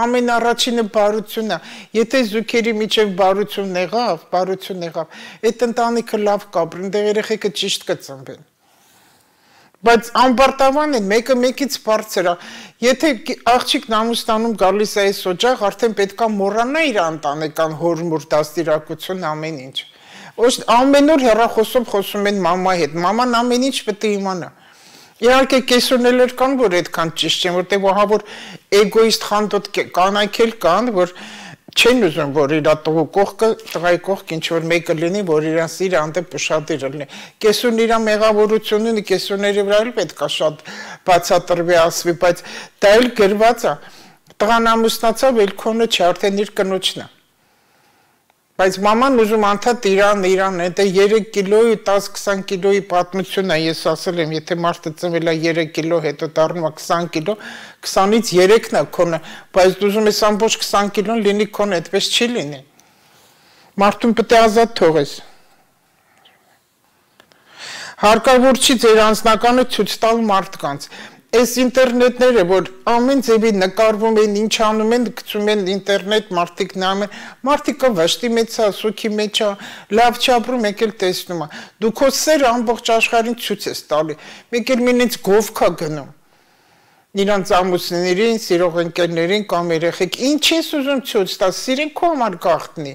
ամենաառաջինը բարությունն է, եթե զույգերի միջև բարություն եղավ, բարություն եղավ, այդ ընտանիքը լավ կապրեն, դեղ երեխեքը ճիշտ կծնվեն։ Բայց ամբարտավան են, մեկը մեկից բարձր է, եթե աղջիկն ամուսնանում գալիս է այս օջախ, արդեն պետք է մոռանա իր ընտանեկան հոր-մոր դաստիարակություն ամեն ինչ։ Ամեն օր հեռախոսով խոսում են մամայի հետ, մաման ամեն ինչ պետք է իմանա։ Իհարկե կեսուներ կան, որ այդքան ճիշտ չեն, որտեղ ահա որ էգոիստ խանդոտ կանայք էլ կան, որ չեն ուզում, որ իր տղու կողքը, տղայի կողք ինչ-որ մեկը լինի, որ իրան սիրը հանդեպ ուշադիր լինի։ Կեսուն իր մեղավորություն ունի, կեսունների վրա էլ պետք է շատ բացատրվի, ասվի, բայց դա էլ գրված է։ Տղան ամուսնացավ, էլ քոնը չէ, արդեն իր կնոջն է։ Բայց մաման ուզում անդադ իրան, իրան, դա երեք կիլոյի, տաս-քսան կիլոյի պատմություն է, ես ասել եմ, եթե մարդը ծնվել է երեք կիլո, հետո դառնում է քսան կիլո, քսանից երեքն է քոնը, բայց դու ուզում ես ամբողջ քսան կիլոն լինի քոնը, այդպես չի լինի։ Մարդուն պետք է ազատ թողես։ Հարկավոր չի ձեր անձնականը ցույց տալ մարդկանց։ Այս ինտերնետները, որ ամեն ձևի նկարվում են, ինչ անում են, գցում են ինտերնետ, մարդիկ նայում են, մարդիկը վշտի մեջ է, սուքի մեջ է, լավ չապրում, մեկ էլ տեսնում է։ Դու քո սերը ամբողջ աշխարհին ցույց ես տալի, մեկ էլ մինից գովք է գնում։ Իրանց ամուսիններին, սիրող ընկերներին կամ երեխեք, ինչ ես ուզում ցույց տալ, սիրեն քո համար գաղտնի։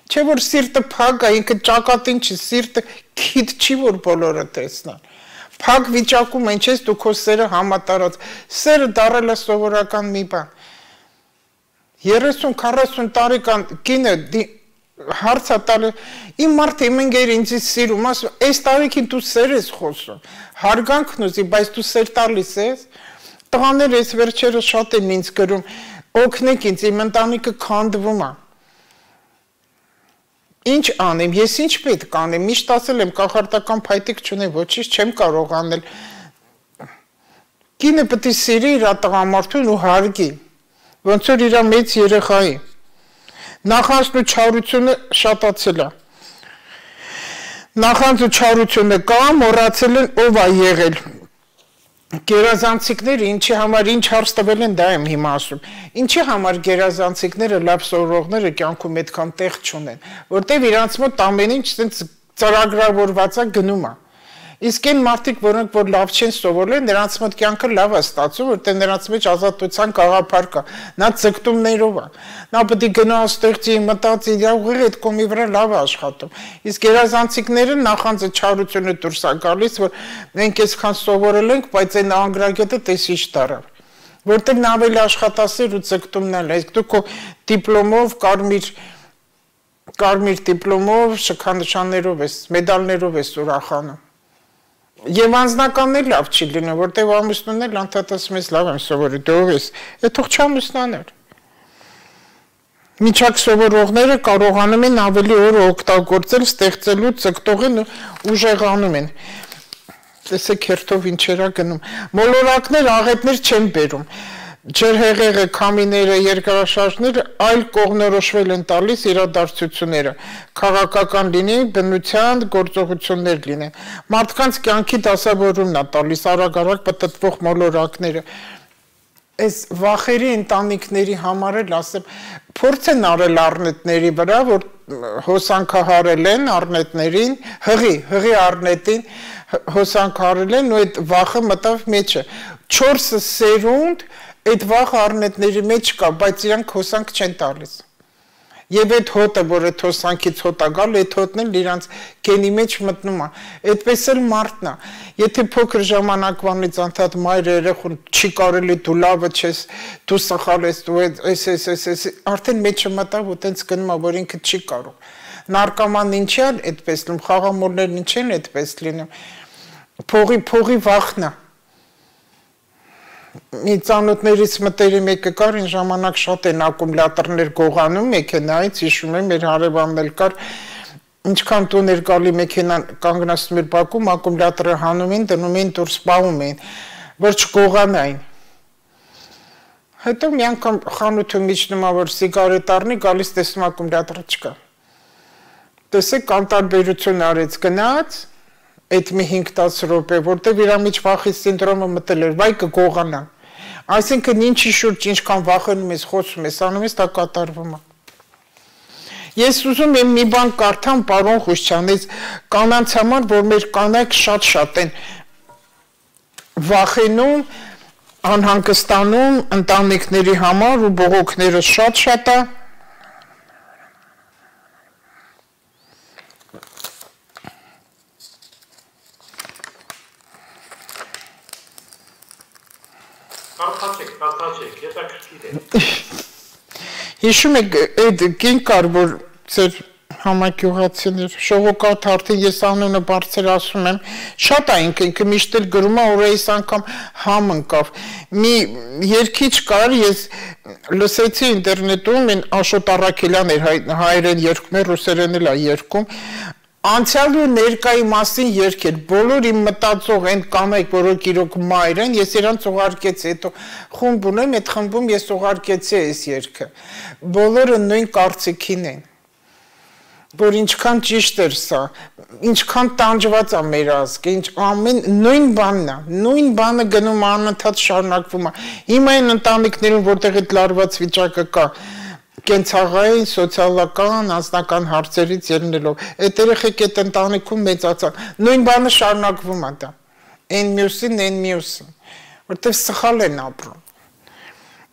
Չէ որ սիրտը փակ է, ինքը ճակատին չի, սիրտը քիթ չի, որ բոլորը տեսնան։ Փակ վիճակում ինչ ես դու քո սերը համատարած, սերը դարել է սովորական մի բան։ երեսուն քառասուն տարեկան կինը հարց է տալի, իմ մարդը իմ ընկերը ինձ սիրում, ասում, այս տարիքին դու սեր ես խոսում, հարգանքն ուզի, բայց դու սեր տալիս ես, Տղաներ այս վերջերը շատ են ինձ գրում, օգնեք ինձ, իմ ընտանիքը քանդվում է։ Ինչ անեմ, ես ինչ պետք անեմ, միշտ ասել եմ, կախարդական փայտիկ չունեմ, ոչինչ չեմ կարող անել։ Կինը պետք է սիրի իր տղամարդուն ու հարգի, ոնց որ իր մեծ երեխայի։ Նախանձն ու չարությունը շատացել է։ Նախանձ ու չարությունը կա, մոռացել են ով է եղել։ Գերազանցիկները ինչի համար ինչ հարց տվել են, դա եմ հիմա ասում։ Ինչի համար գերազանցիկները լավ սովորողները կյանքում այդքան տեղ չունեն, որտեղ իրանց մոտ ամեն ինչ ցենց ծրագրավորված է գնում է։ Իսկ այն մարդիկ, որոնք որ լավ չեն սովորել, նրանց մոտ կյանքը լավ է ստացվում, որտեղ նրանց մեջ ազատության գաղափար կա։ Նա ձգտումներով է։ Նա պետք է գնա ստեղծի, մտածի, իր ուղիղ այդ կոմի վրա լավ է աշխատում։ Իսկ գերազանցիկները նախանձը չարությունը դուրս է գալիս, որ մենք այսքան սովորել ենք, բայց այն անգրագետը տեսիչ դարավ։ Որտեղ նա ավելի աշխատասեր ու ձգտումն է, իսկ դու քո դիպլոմով, կարմիր կարմիր դիպլոմով, շքանշաններով ես, մեդալներով ես ուրախանում։ Եվ անձնականն էլ լավ չի լինում, որտեղ ամուսնուն էլ անդադար մեզ լավ եմ սովորի, դու ով ես, է թող չամուսնաներ։ Միջակ սովորողները կարողանում են ավելի օր օգտագործել, ստեղծելու, ձգտողին ու ուժեղանում են։ Տեսեք հերթով ինչերա գնում։ Մոլորակներ, աղետներ չեն բերում։ Ջրհեղեղը, քամիները, երկրաշարժները այլ կողմնորոշվել են տալիս իրադարձությունները, քաղաքական լինեն, բնության գործողություններ լինեն։ Մարդկանց կյանքի դասավորումն է տալիս արագ-արագ պտտվող մոլորակները։ Այս վախերի ընտանիքների համար էլ ասեմ, փորձ են արել առնետների վրա, որ հոսանքահարել են առնետներին, հղի, հղի առնետին հոսանքահարել են ու այդ վախը մտավ մեջը։ Չորսը սերունդ այդ վախը առնետների մեջ կա, բայց իրանք հոսանք չեն տալիս։ Եվ այդ հոտը, որ այդ հոսանքից հոտ է գալ, այդ հոտն էլ իրանց գենի մեջ մտնում է։ Այդպես էլ մարդն է։ Եթե փոքր ժամանակվանից անդադ մայրը երեխուն չի կարելի դու լավը չես, դու սխալ ես, դու էս էս էս էս արդեն մեջը մտավ ու տենց գնում է, որ ինքը չի կարող։ Նարկոմանն ինչի է այդպես լինում, խաղամոլներն ինչ են այդպես լինում։ Փողի փողի վախն է։ Մի ծանոթներից մտերի մեկը կար, այն ժամանակ շատ են ակումուլյատորներ գողանում մեքենայից, հիշում եմ, մեր հարևանն էլ կար, ինչքան տուն էր գալի մեքենան կանգնացնում էր բակում, ակումուլյատորը հանում են, դնում են դուրս սպառում են, որ չգողանային։ Հետո մի անգամ խանութում իջնում ա որ սիգարետ առնի, գալիս տեսնում ակումուլյատորը չկա։ Տեսեք անտարբերություն արեց գնաց այդ մի հինգ-տասը րոպե, որտեղ իր մեջ վախի սինդրոմը մտել էր, վայ կգողանա։ Այսինքն ինչի շուրջ ինչքան վախենում ես, խոսում ես, անում ես, դա կատարվում է։ Ես ուզում եմ մի բան կարդամ պարոն Խուշչյանից կանանց համար, որ մեր կանայք շատ-շատ են վախենում, անհանգստանում ընտանիքների համար ու բողոքները շատ-շատ է։ Կարդացեք, կարդացեք, հետաքրքիր է։ Հիշում եք այդ կին կար, որ ձեր համակյուղացիներ, Շողոկատ արդեն ես անունը բարձր ասում եմ, շատ է ինքը, ինքը միշտ էլ գրում է, որ այս անգամ համ ընկավ։ Մի երգիչ կար, ես լսեցի ինտերնետում, են Աշոտ Առաքելյան էր հայերեն երգում, ռուսերեն էլ է երգում, անցյալի ու ներկայի մասին երգեր, բոլոր իմ մտածող են կանայք, որոնք իրոք մայր են, ես իրանց ուղարկեցի, հետո խումբ ունեմ, այդ խմբում ես ուղարկեցի այս երգը, բոլորը նույն կարծիքին են, որ ինչքան ճիշտ էր սա, ինչքան տանջված է մեր ազգը, ինչ ամեն նույն բանն է, նույն բանը գնում անընդհատ շարունակվում է, հիմա այն ընտանիքներում, որտեղ այդ լարված վիճակը կա, կենցաղային, սոցիալական, անձնական հարցերից ելնելով, այդ երեխեք այդ ընտանիքում մեծացան, նույն բանը շարունակվում է դա, այն մյուսին, այն մյուսին, որտեղ սխալ են ապրում։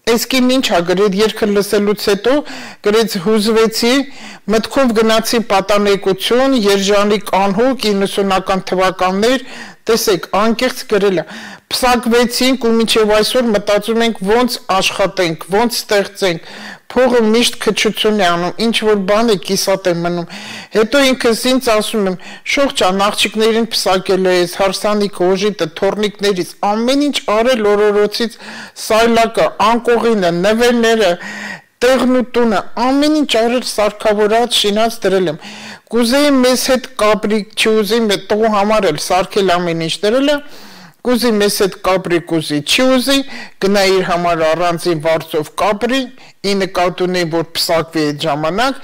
Այս կին ինչ է գրել երգը լսելուց հետո, գրեց հուզվեցի, մտքով գնացի պատանեկություն, Երջանիկ անհոգ իննսունական թվականներ, տեսեք, անկեղծ գրել է, փսակվեցինք ու մինչև այսօր մտածում ենք ոնց աշխատենք, ոնց ստեղծենք, փողը միշտ քչություն է անում, ինչ որ բան է կիսատ է մնում։ Հետո ինքս ինձ ասում եմ, շողջան աղջիկներին փսակել ես, հարսանիք, օժիտը, թորնիկներից, ամեն ինչ արել օրորոցից սայլակը, անկողինը, նվերները, տեղն ու տունը, ամեն ինչ արել սարքավորած, շինած դրել եմ։ Կուզեի մեզ հետ կապրի, չուզեի մեզ տղու համար էլ սարքել ամեն ինչ դրել է, կուզի մեզ հետ կապրի, կուզի չուզի, գնա իր համար առանձին վարձով կապրի, ի նկատի ունի, որ փսակվի այդ ժամանակ,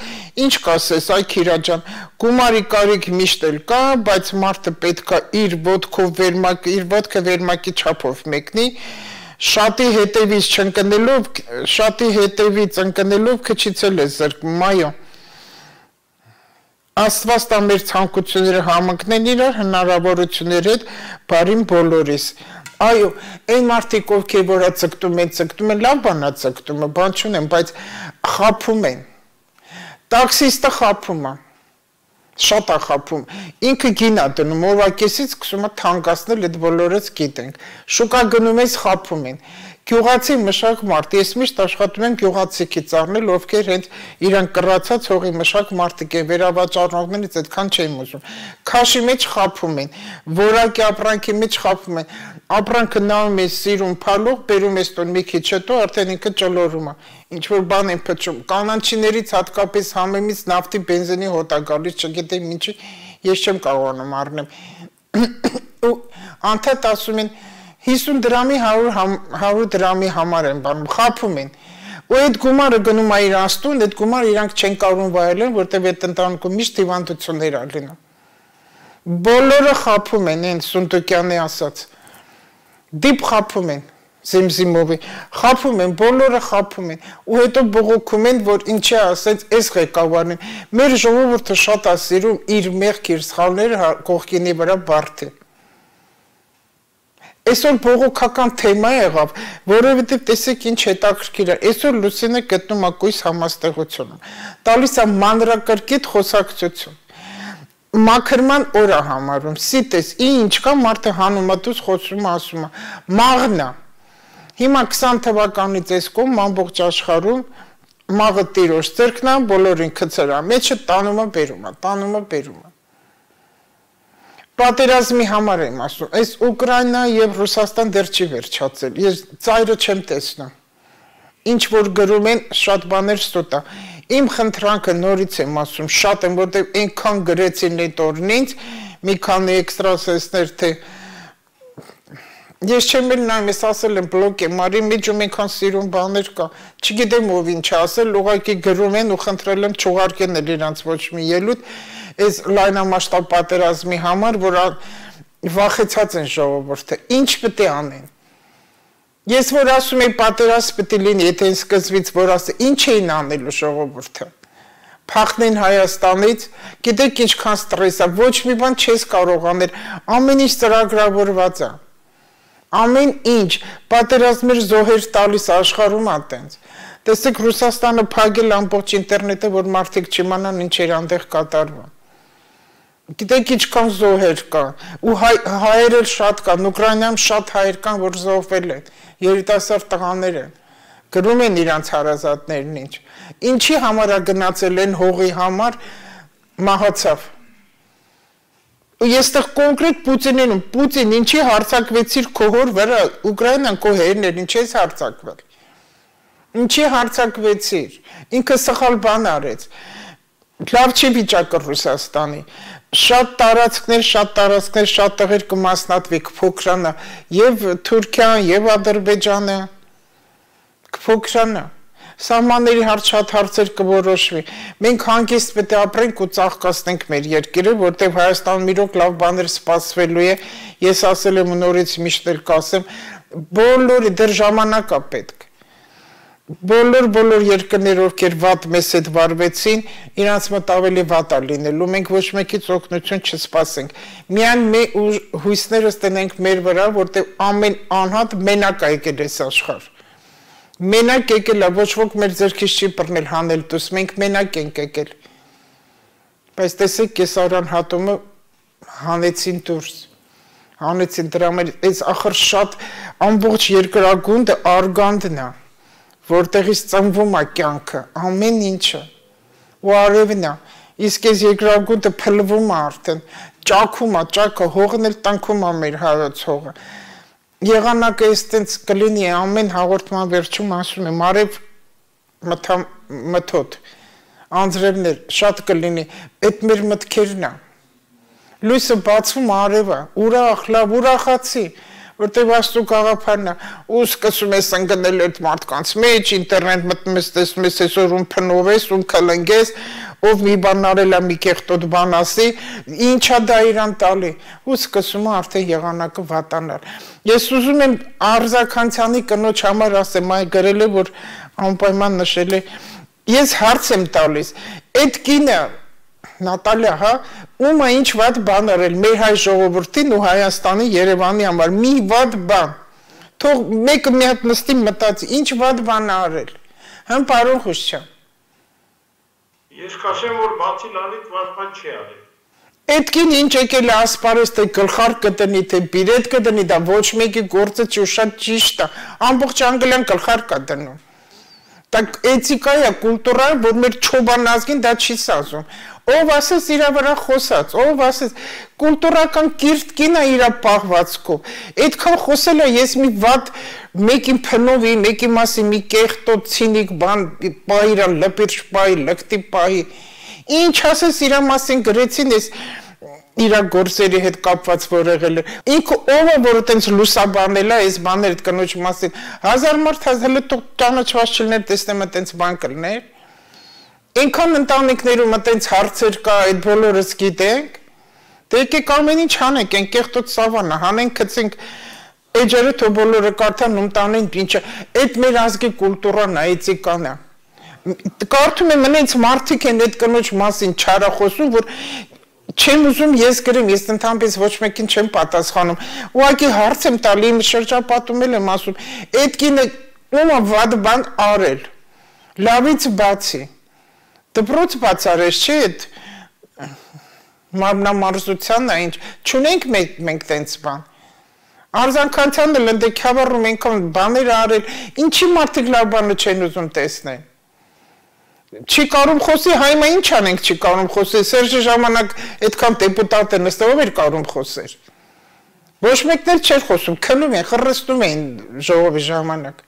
ինչ կասես, այ Քիրա ջան, գումարի կարիք միշտ էլ կա, բայց մարդը պետք է իր ոտքով վերմակ, իր ոտքը վերմակի չափով մեկնի, շատի հետևից չընկնելով, շատի հետևից ընկնելով քչից էլ է զրկում, այո։ Աստված տա մեր ցանկությունները համընկնեն իրար հնարավորությունների հետ բարին բոլորիս։ Այո, այն մարդիկ ովքեր որ ցկտում են, ցկտում են, լավ բան է ցկտումը, բան չունեմ, բայց խափում են։ Տաքսիստը խափում է։ Շատ է խափում։ Ինքը գին է դնում, օրվա կեսից սկսում է թանկացնել, այդ բոլորից գիտենք։ Շուկա գնում ես խափում են։ Գյուղացի մշակ մարդ, ես միշտ աշխատում եմ գյուղացիքից առնել, ովքեր հենց իրան կռացած հողի մշակ մարդիկ են, վերավաճառողներից այդքան չեմ ուզում։ Քաշի մեջ խափում են, որակի ապրանքի մեջ խափում են։ Ապրանքը նայում ես սիրուն փալող, բերում ես տուն մի քիչ հետո արդեն ինքը ճլորում է։ Ինչ որ բան են փչում։ Կանանչիներից հատկապես համեմից նավթի բենզինի հոտ է գալիս, չգիտեմ ինչի, ես չեմ կարողանում առնեմ։ Ու անդադ ասում են հիսուն դրամի հարյուր դրամի համար են բանում, խափում են։ Ու այդ գումարը գնում է իր աստուն, այդ գումարը իրանք չեն կարողում վայելել, որտեղ այդ ընտանիքում միշտ հիվանդություններ ա լինում։ Բոլորը խափում են, այն Սունդուկյանի ասած։ Դիպ խափում են, Զիմզիմովի, խափում են, բոլորը խափում են։ Ու հետո բողոքում են, որ ինչի ասեց, այս ղեկավարն են։ Մեր ժողովուրդը շատ է սիրում իր մեղք, իր սխալները կողքինի վրա բարդել։ Այսօր բողոքական թեմա եղավ, որովհետև տեսեք ինչ հետաքրքիր է, այսօր Լուսինը գտնում է կույս համաստեղությունում, տալիս է մանրակրկիտ խոսակցություն, մաքրման օր է համարում, սիտես, ինչ կա մարդը հանում է դուս խոսում է, ասում է, մաղնա, հիմա քսան թվականից այս կողմ ամբողջ աշխարհում մաղը տիրոջ ձեռքն է, բոլորին քցրա մեջը տանում է բերում է, տանում է բերում է։ Պատերազմի համար եմ ասում, այս Ուկրաինա և Ռուսաստան դեռ չի վերջացել, ես ծայրը չեմ տեսնում, ինչ որ գրում են շատ բաներ ստոտ է, իմ խնդրանքը նորից եմ ասում, շատ եմ, որտև այնքան գրեցին այդ օրն ինձ, մի քանի էքստրասենսներ, թե ես չեմ էլ նայում, ես ասել եմ բլոկ եմ արի, միջում այնքան սիրուն բաներ կա, չգիտեմ ով ինչ ասել, ուղղակի գրում են ու խնդրել եմ չուղարկեն էլ իրանց ոչ մի ելույթ, այս լայնամասշտաբ պատերազմի համար, որ վախեցած են ժողովուրդը, ինչ պետք է անեն։ Ես որ ասում եմ պատերազմ պետք է լինի, եթե այն սկզբից որ ասե, ինչ էին անելու ժողովուրդը։ Փախնեն Հայաստանից, գիտեք ինչքան ստրես է, ոչ մի բան չես կարող անել, ամեն ինչ ծրագրավորված է։ Ամեն ինչ, պատերազմեր զոհեր տալիս աշխարհում է տենց։ Տեսեք Ռուսաստանը փակել ամբողջ ինտերնետը, որ մարդիկ չիմանան ինչ էր այնտեղ կատարվում։ Գիտեք ինչքան զոհեր կա, ու հայեր էլ շատ կան, Ուկրաինայում շատ հայեր կան, որ զոհվել են, երիտասարդ տղաներ են, գրում են իրանց հարազատներն ինչ, ինչի համար է գնացել են հողի համար, մահացավ։ Ու ես տեղ կոնկրետ Պուտինին, Պուտին ինչի հարցակվեցիր քո հոր վրա, Ուկրաինան քո հերն էր, ինչ ես հարցակվել։ Ինչի հարցակվեցիր, ինքը սխալ բան արեց, լավ չի վիճակը Ռուսաստանի, շատ տարածքներ, շատ տարածքներ, շատ տղեր կմասնատվի, կփոքրանա, և Թուրքիան, և Ադրբեջանը, կփոքրանա, սահմանների հարց շատ հարցեր կորոշվի, մենք հանգիստ պետք է ապրենք ու ծաղկացնենք մեր երկիրը, որտեղ Հայաստանում իրոք լավ բաներ սպասվելու է, ես ասել եմ ու նորից միշտ էլ կասեմ, բոլորի դեռ ժամանակ է պետք։ Բոլոր բոլոր երկրներ, ովքեր վատ մեզ հետ վարվեցին, իրանց մոտ ավելի վատ է լինելու, մենք ոչ մեկից օգնություն չսպասենք։ Միայն հույսներս տնենք մեր վրա, որտեղ ամեն անհատ մենակ է եկել այս աշխարհ։ Մենակ եկել է, ոչ ոք մեր ձեռքից չի բռնել հանել դուս, մենք մենակ ենք եկել։ Բայց տեսեք, կեսարան հատումը հանեցին դուրս։ Հանեցին դրա մեր, այս ախր շատ ամբողջ երկրագունդը արգանդն է։ որտեղից ծնվում է կյանքը, ամեն ինչը, ու արևն է, իսկ այս երկրագուտը փլվում է արդեն, ճաքում է, ճակը, հողն էլ տնքում է մեր հայոց հողը։ Եղանակը այս տենց կլինի, ամեն հաղորդման վերջում ասում եմ, արև մթոտ, անձրևներ, շատ կլինի, այդ մեր մտքերն է։ Լույսը բացվում արևը, ուրախ, լավ, ուրախացի, որտեղ Աստծո գաղափարն է, ու սկսում ես ընկնել այդ մարդկանց մեջ, ինտերնետ մտնում ես, տեսնում ես այսօր ում փնովես, ում քլնգես, ով մի բան արել է, մի կեղտոտ բան ասի, ինչա դա իրան տալի, ու սկսում է արդեն եղանակը վատանալ։ Ես ուզում եմ Արձաքանցյանի կնոջ համար ասեմ, այ գրել է, որ անպայման նշել է, ես հարց եմ տալիս, այդ կինը Նատալիա, հա, ում է ինչ վատ բան արել մեր հայ ժողովրդին ու Հայաստանի Երևանի համար, մի վատ բան, թող մեկը մի հատ նստի մտածի, ինչ վատ բան արել, հմ պարոն Խուշչյան։ Ես կասեմ, որ բացի լալից վատ բան չի արել։ Այդ կին ինչ եկել է ասպարես, թե գլխար կտնի, թե բիրետ կտնի, դա ոչ մեկի գործը չի ու շատ ճիշտ է, ամբողջ Անգլիան գլխար կա դնում։ Так էթիկա է, կուլտուրա է, որ մեր չոբան ազգին դա չի սազում։ Ով ասես իրա վրա խոսած, ով ասես կուլտուրական կիրթ կինա իրա պահվածքով։ Այդքան խոսել է ես մի վատ մեկին փնովի, մեկի մասի մի կեղտոտ ցինիկ բան բայրա լպիրջ բայ, լկտի բայ։ Ինչ ասես իրա մասին գրեցին ես իրա գործերի հետ կապված որ եղել է։ Ինքը ով է որ այտենց լուսաբանել է այս բաները այդ կնոջ մասին։ Հազար մարդ հազար տող ճանաչված չլներ տեսնեմ այտենց բան կլներ։ Ինքան ընտանիքներում այտենց հարցեր կա, այդ բոլորս գիտենք։ Դե եկեք ամեն ինչ հանենք, այն կեղտոտ սավանա, հանենք, գցենք էջերը թող բոլորը կարդան ու տանեն ինչը։ Այդ մեր ազգի կուլտուրան է, էթիկան է։ Կարդում եմ այնց մարդիկ են այդ կնոջ մասին չարախոսում, որ չեմ ուզում ես գրեմ, ես ընդհանրապես ոչ մեկին չեմ պատասխանում։ Ուղղակի հարց եմ տալի, իմ շրջապատում եմ ասում, այդ կինը ում է վատ բան արել։ Լավից բացի։ Դպրոց բացարես չի այդ մարմնամարզությանն է ինչ, չունենք մենք տենց բան։ Արձաքանցյանը լնդեքյավառում ենքան բաներ արել, ինչի մարդիկ լավ բանը չեն ուզում տեսնել։ Չի կարում խոսի, հայմա ինչ անենք չի կարում խոսի, Սերժի ժամանակ այդքան դեպուտատ է նստել, ով էր կարում խոսեր։ Ոչ մեկներ չէր խոսում, քնում են, խռստում էին ժողովի ժամանակ։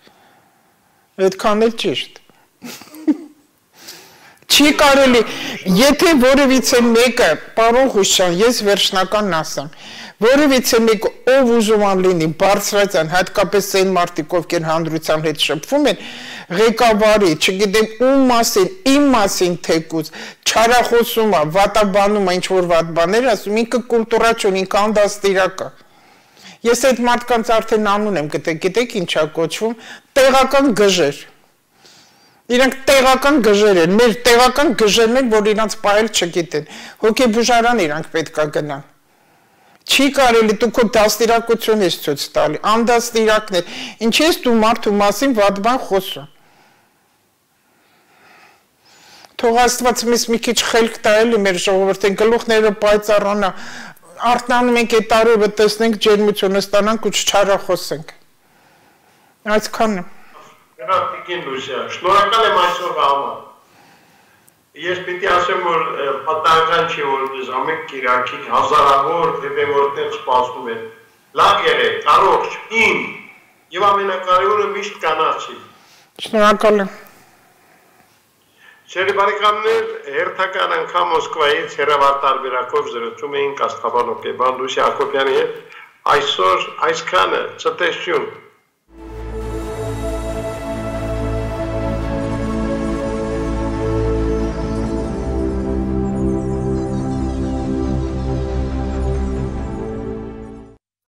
Այդքան էլ ճիշտ։ Չի կարելի, եթե որևիցե մեկը, պարոն Խուշչյան, ես վերջնական ասեմ, որևիցե մեկը ով ուզում ան լինի, բարձրացան, հատկապես այն մարդիկ, ովքեր հանրության հետ շփվում են, ղեկավարի, չգիտեմ ում մասին, իմ մասին թեկուզ, չարախոսում է, վատաբանում է, ինչ-որ վատ բաներ ասում, ինքը կուլտուրա չունի, ինքը անդաստիրակ է։ Ես այդ մարդկանց արդեն անուն եմ գտել, գիտեք ինչ է կոչվում, տեղական գժեր։ Իրանք տեղական գժեր են, մեր տեղական գժերն են, որ իրանց պահել չգիտեն, հոգեբուժարան իրանք պետք է գնան։ Չի կարելի դու քո դաստիարակություն ես ցույց տալի, անդաստիարակներ, ինչ ես դու մարդու մասին վատ բան խոսում։ Թող Աստված մեզ մի քիչ խելք տա էլի մեր ժողովրդին, գլուխները պայծառանա, արթնանում ենք այդ արևը տեսնենք, ջերմությունը ստանանք ու չչարախոսենք։ Այսքանն է։ Տիկին Լուսիա, շնորհակալ եմ այսօրվա համար։ Ես պիտի ասեմ, որ պատահական չի, որ ամեն կիրակի հազարավոր դեպեմորտներ սպասում են։ Լավ եղեք, առողջ, իմ եւ ամենակարևորը միշտ կանացի։ Շնորհակալ եմ։ Սերի բարեկամներ, հերթական անգամ Մոսկվայից հեռավար տարբերակով զրուցում էինք Աստղաբան հոգեբան Լուսիա Հակոբյանի հետ։ Այսօր այսքանը, ցտեսություն։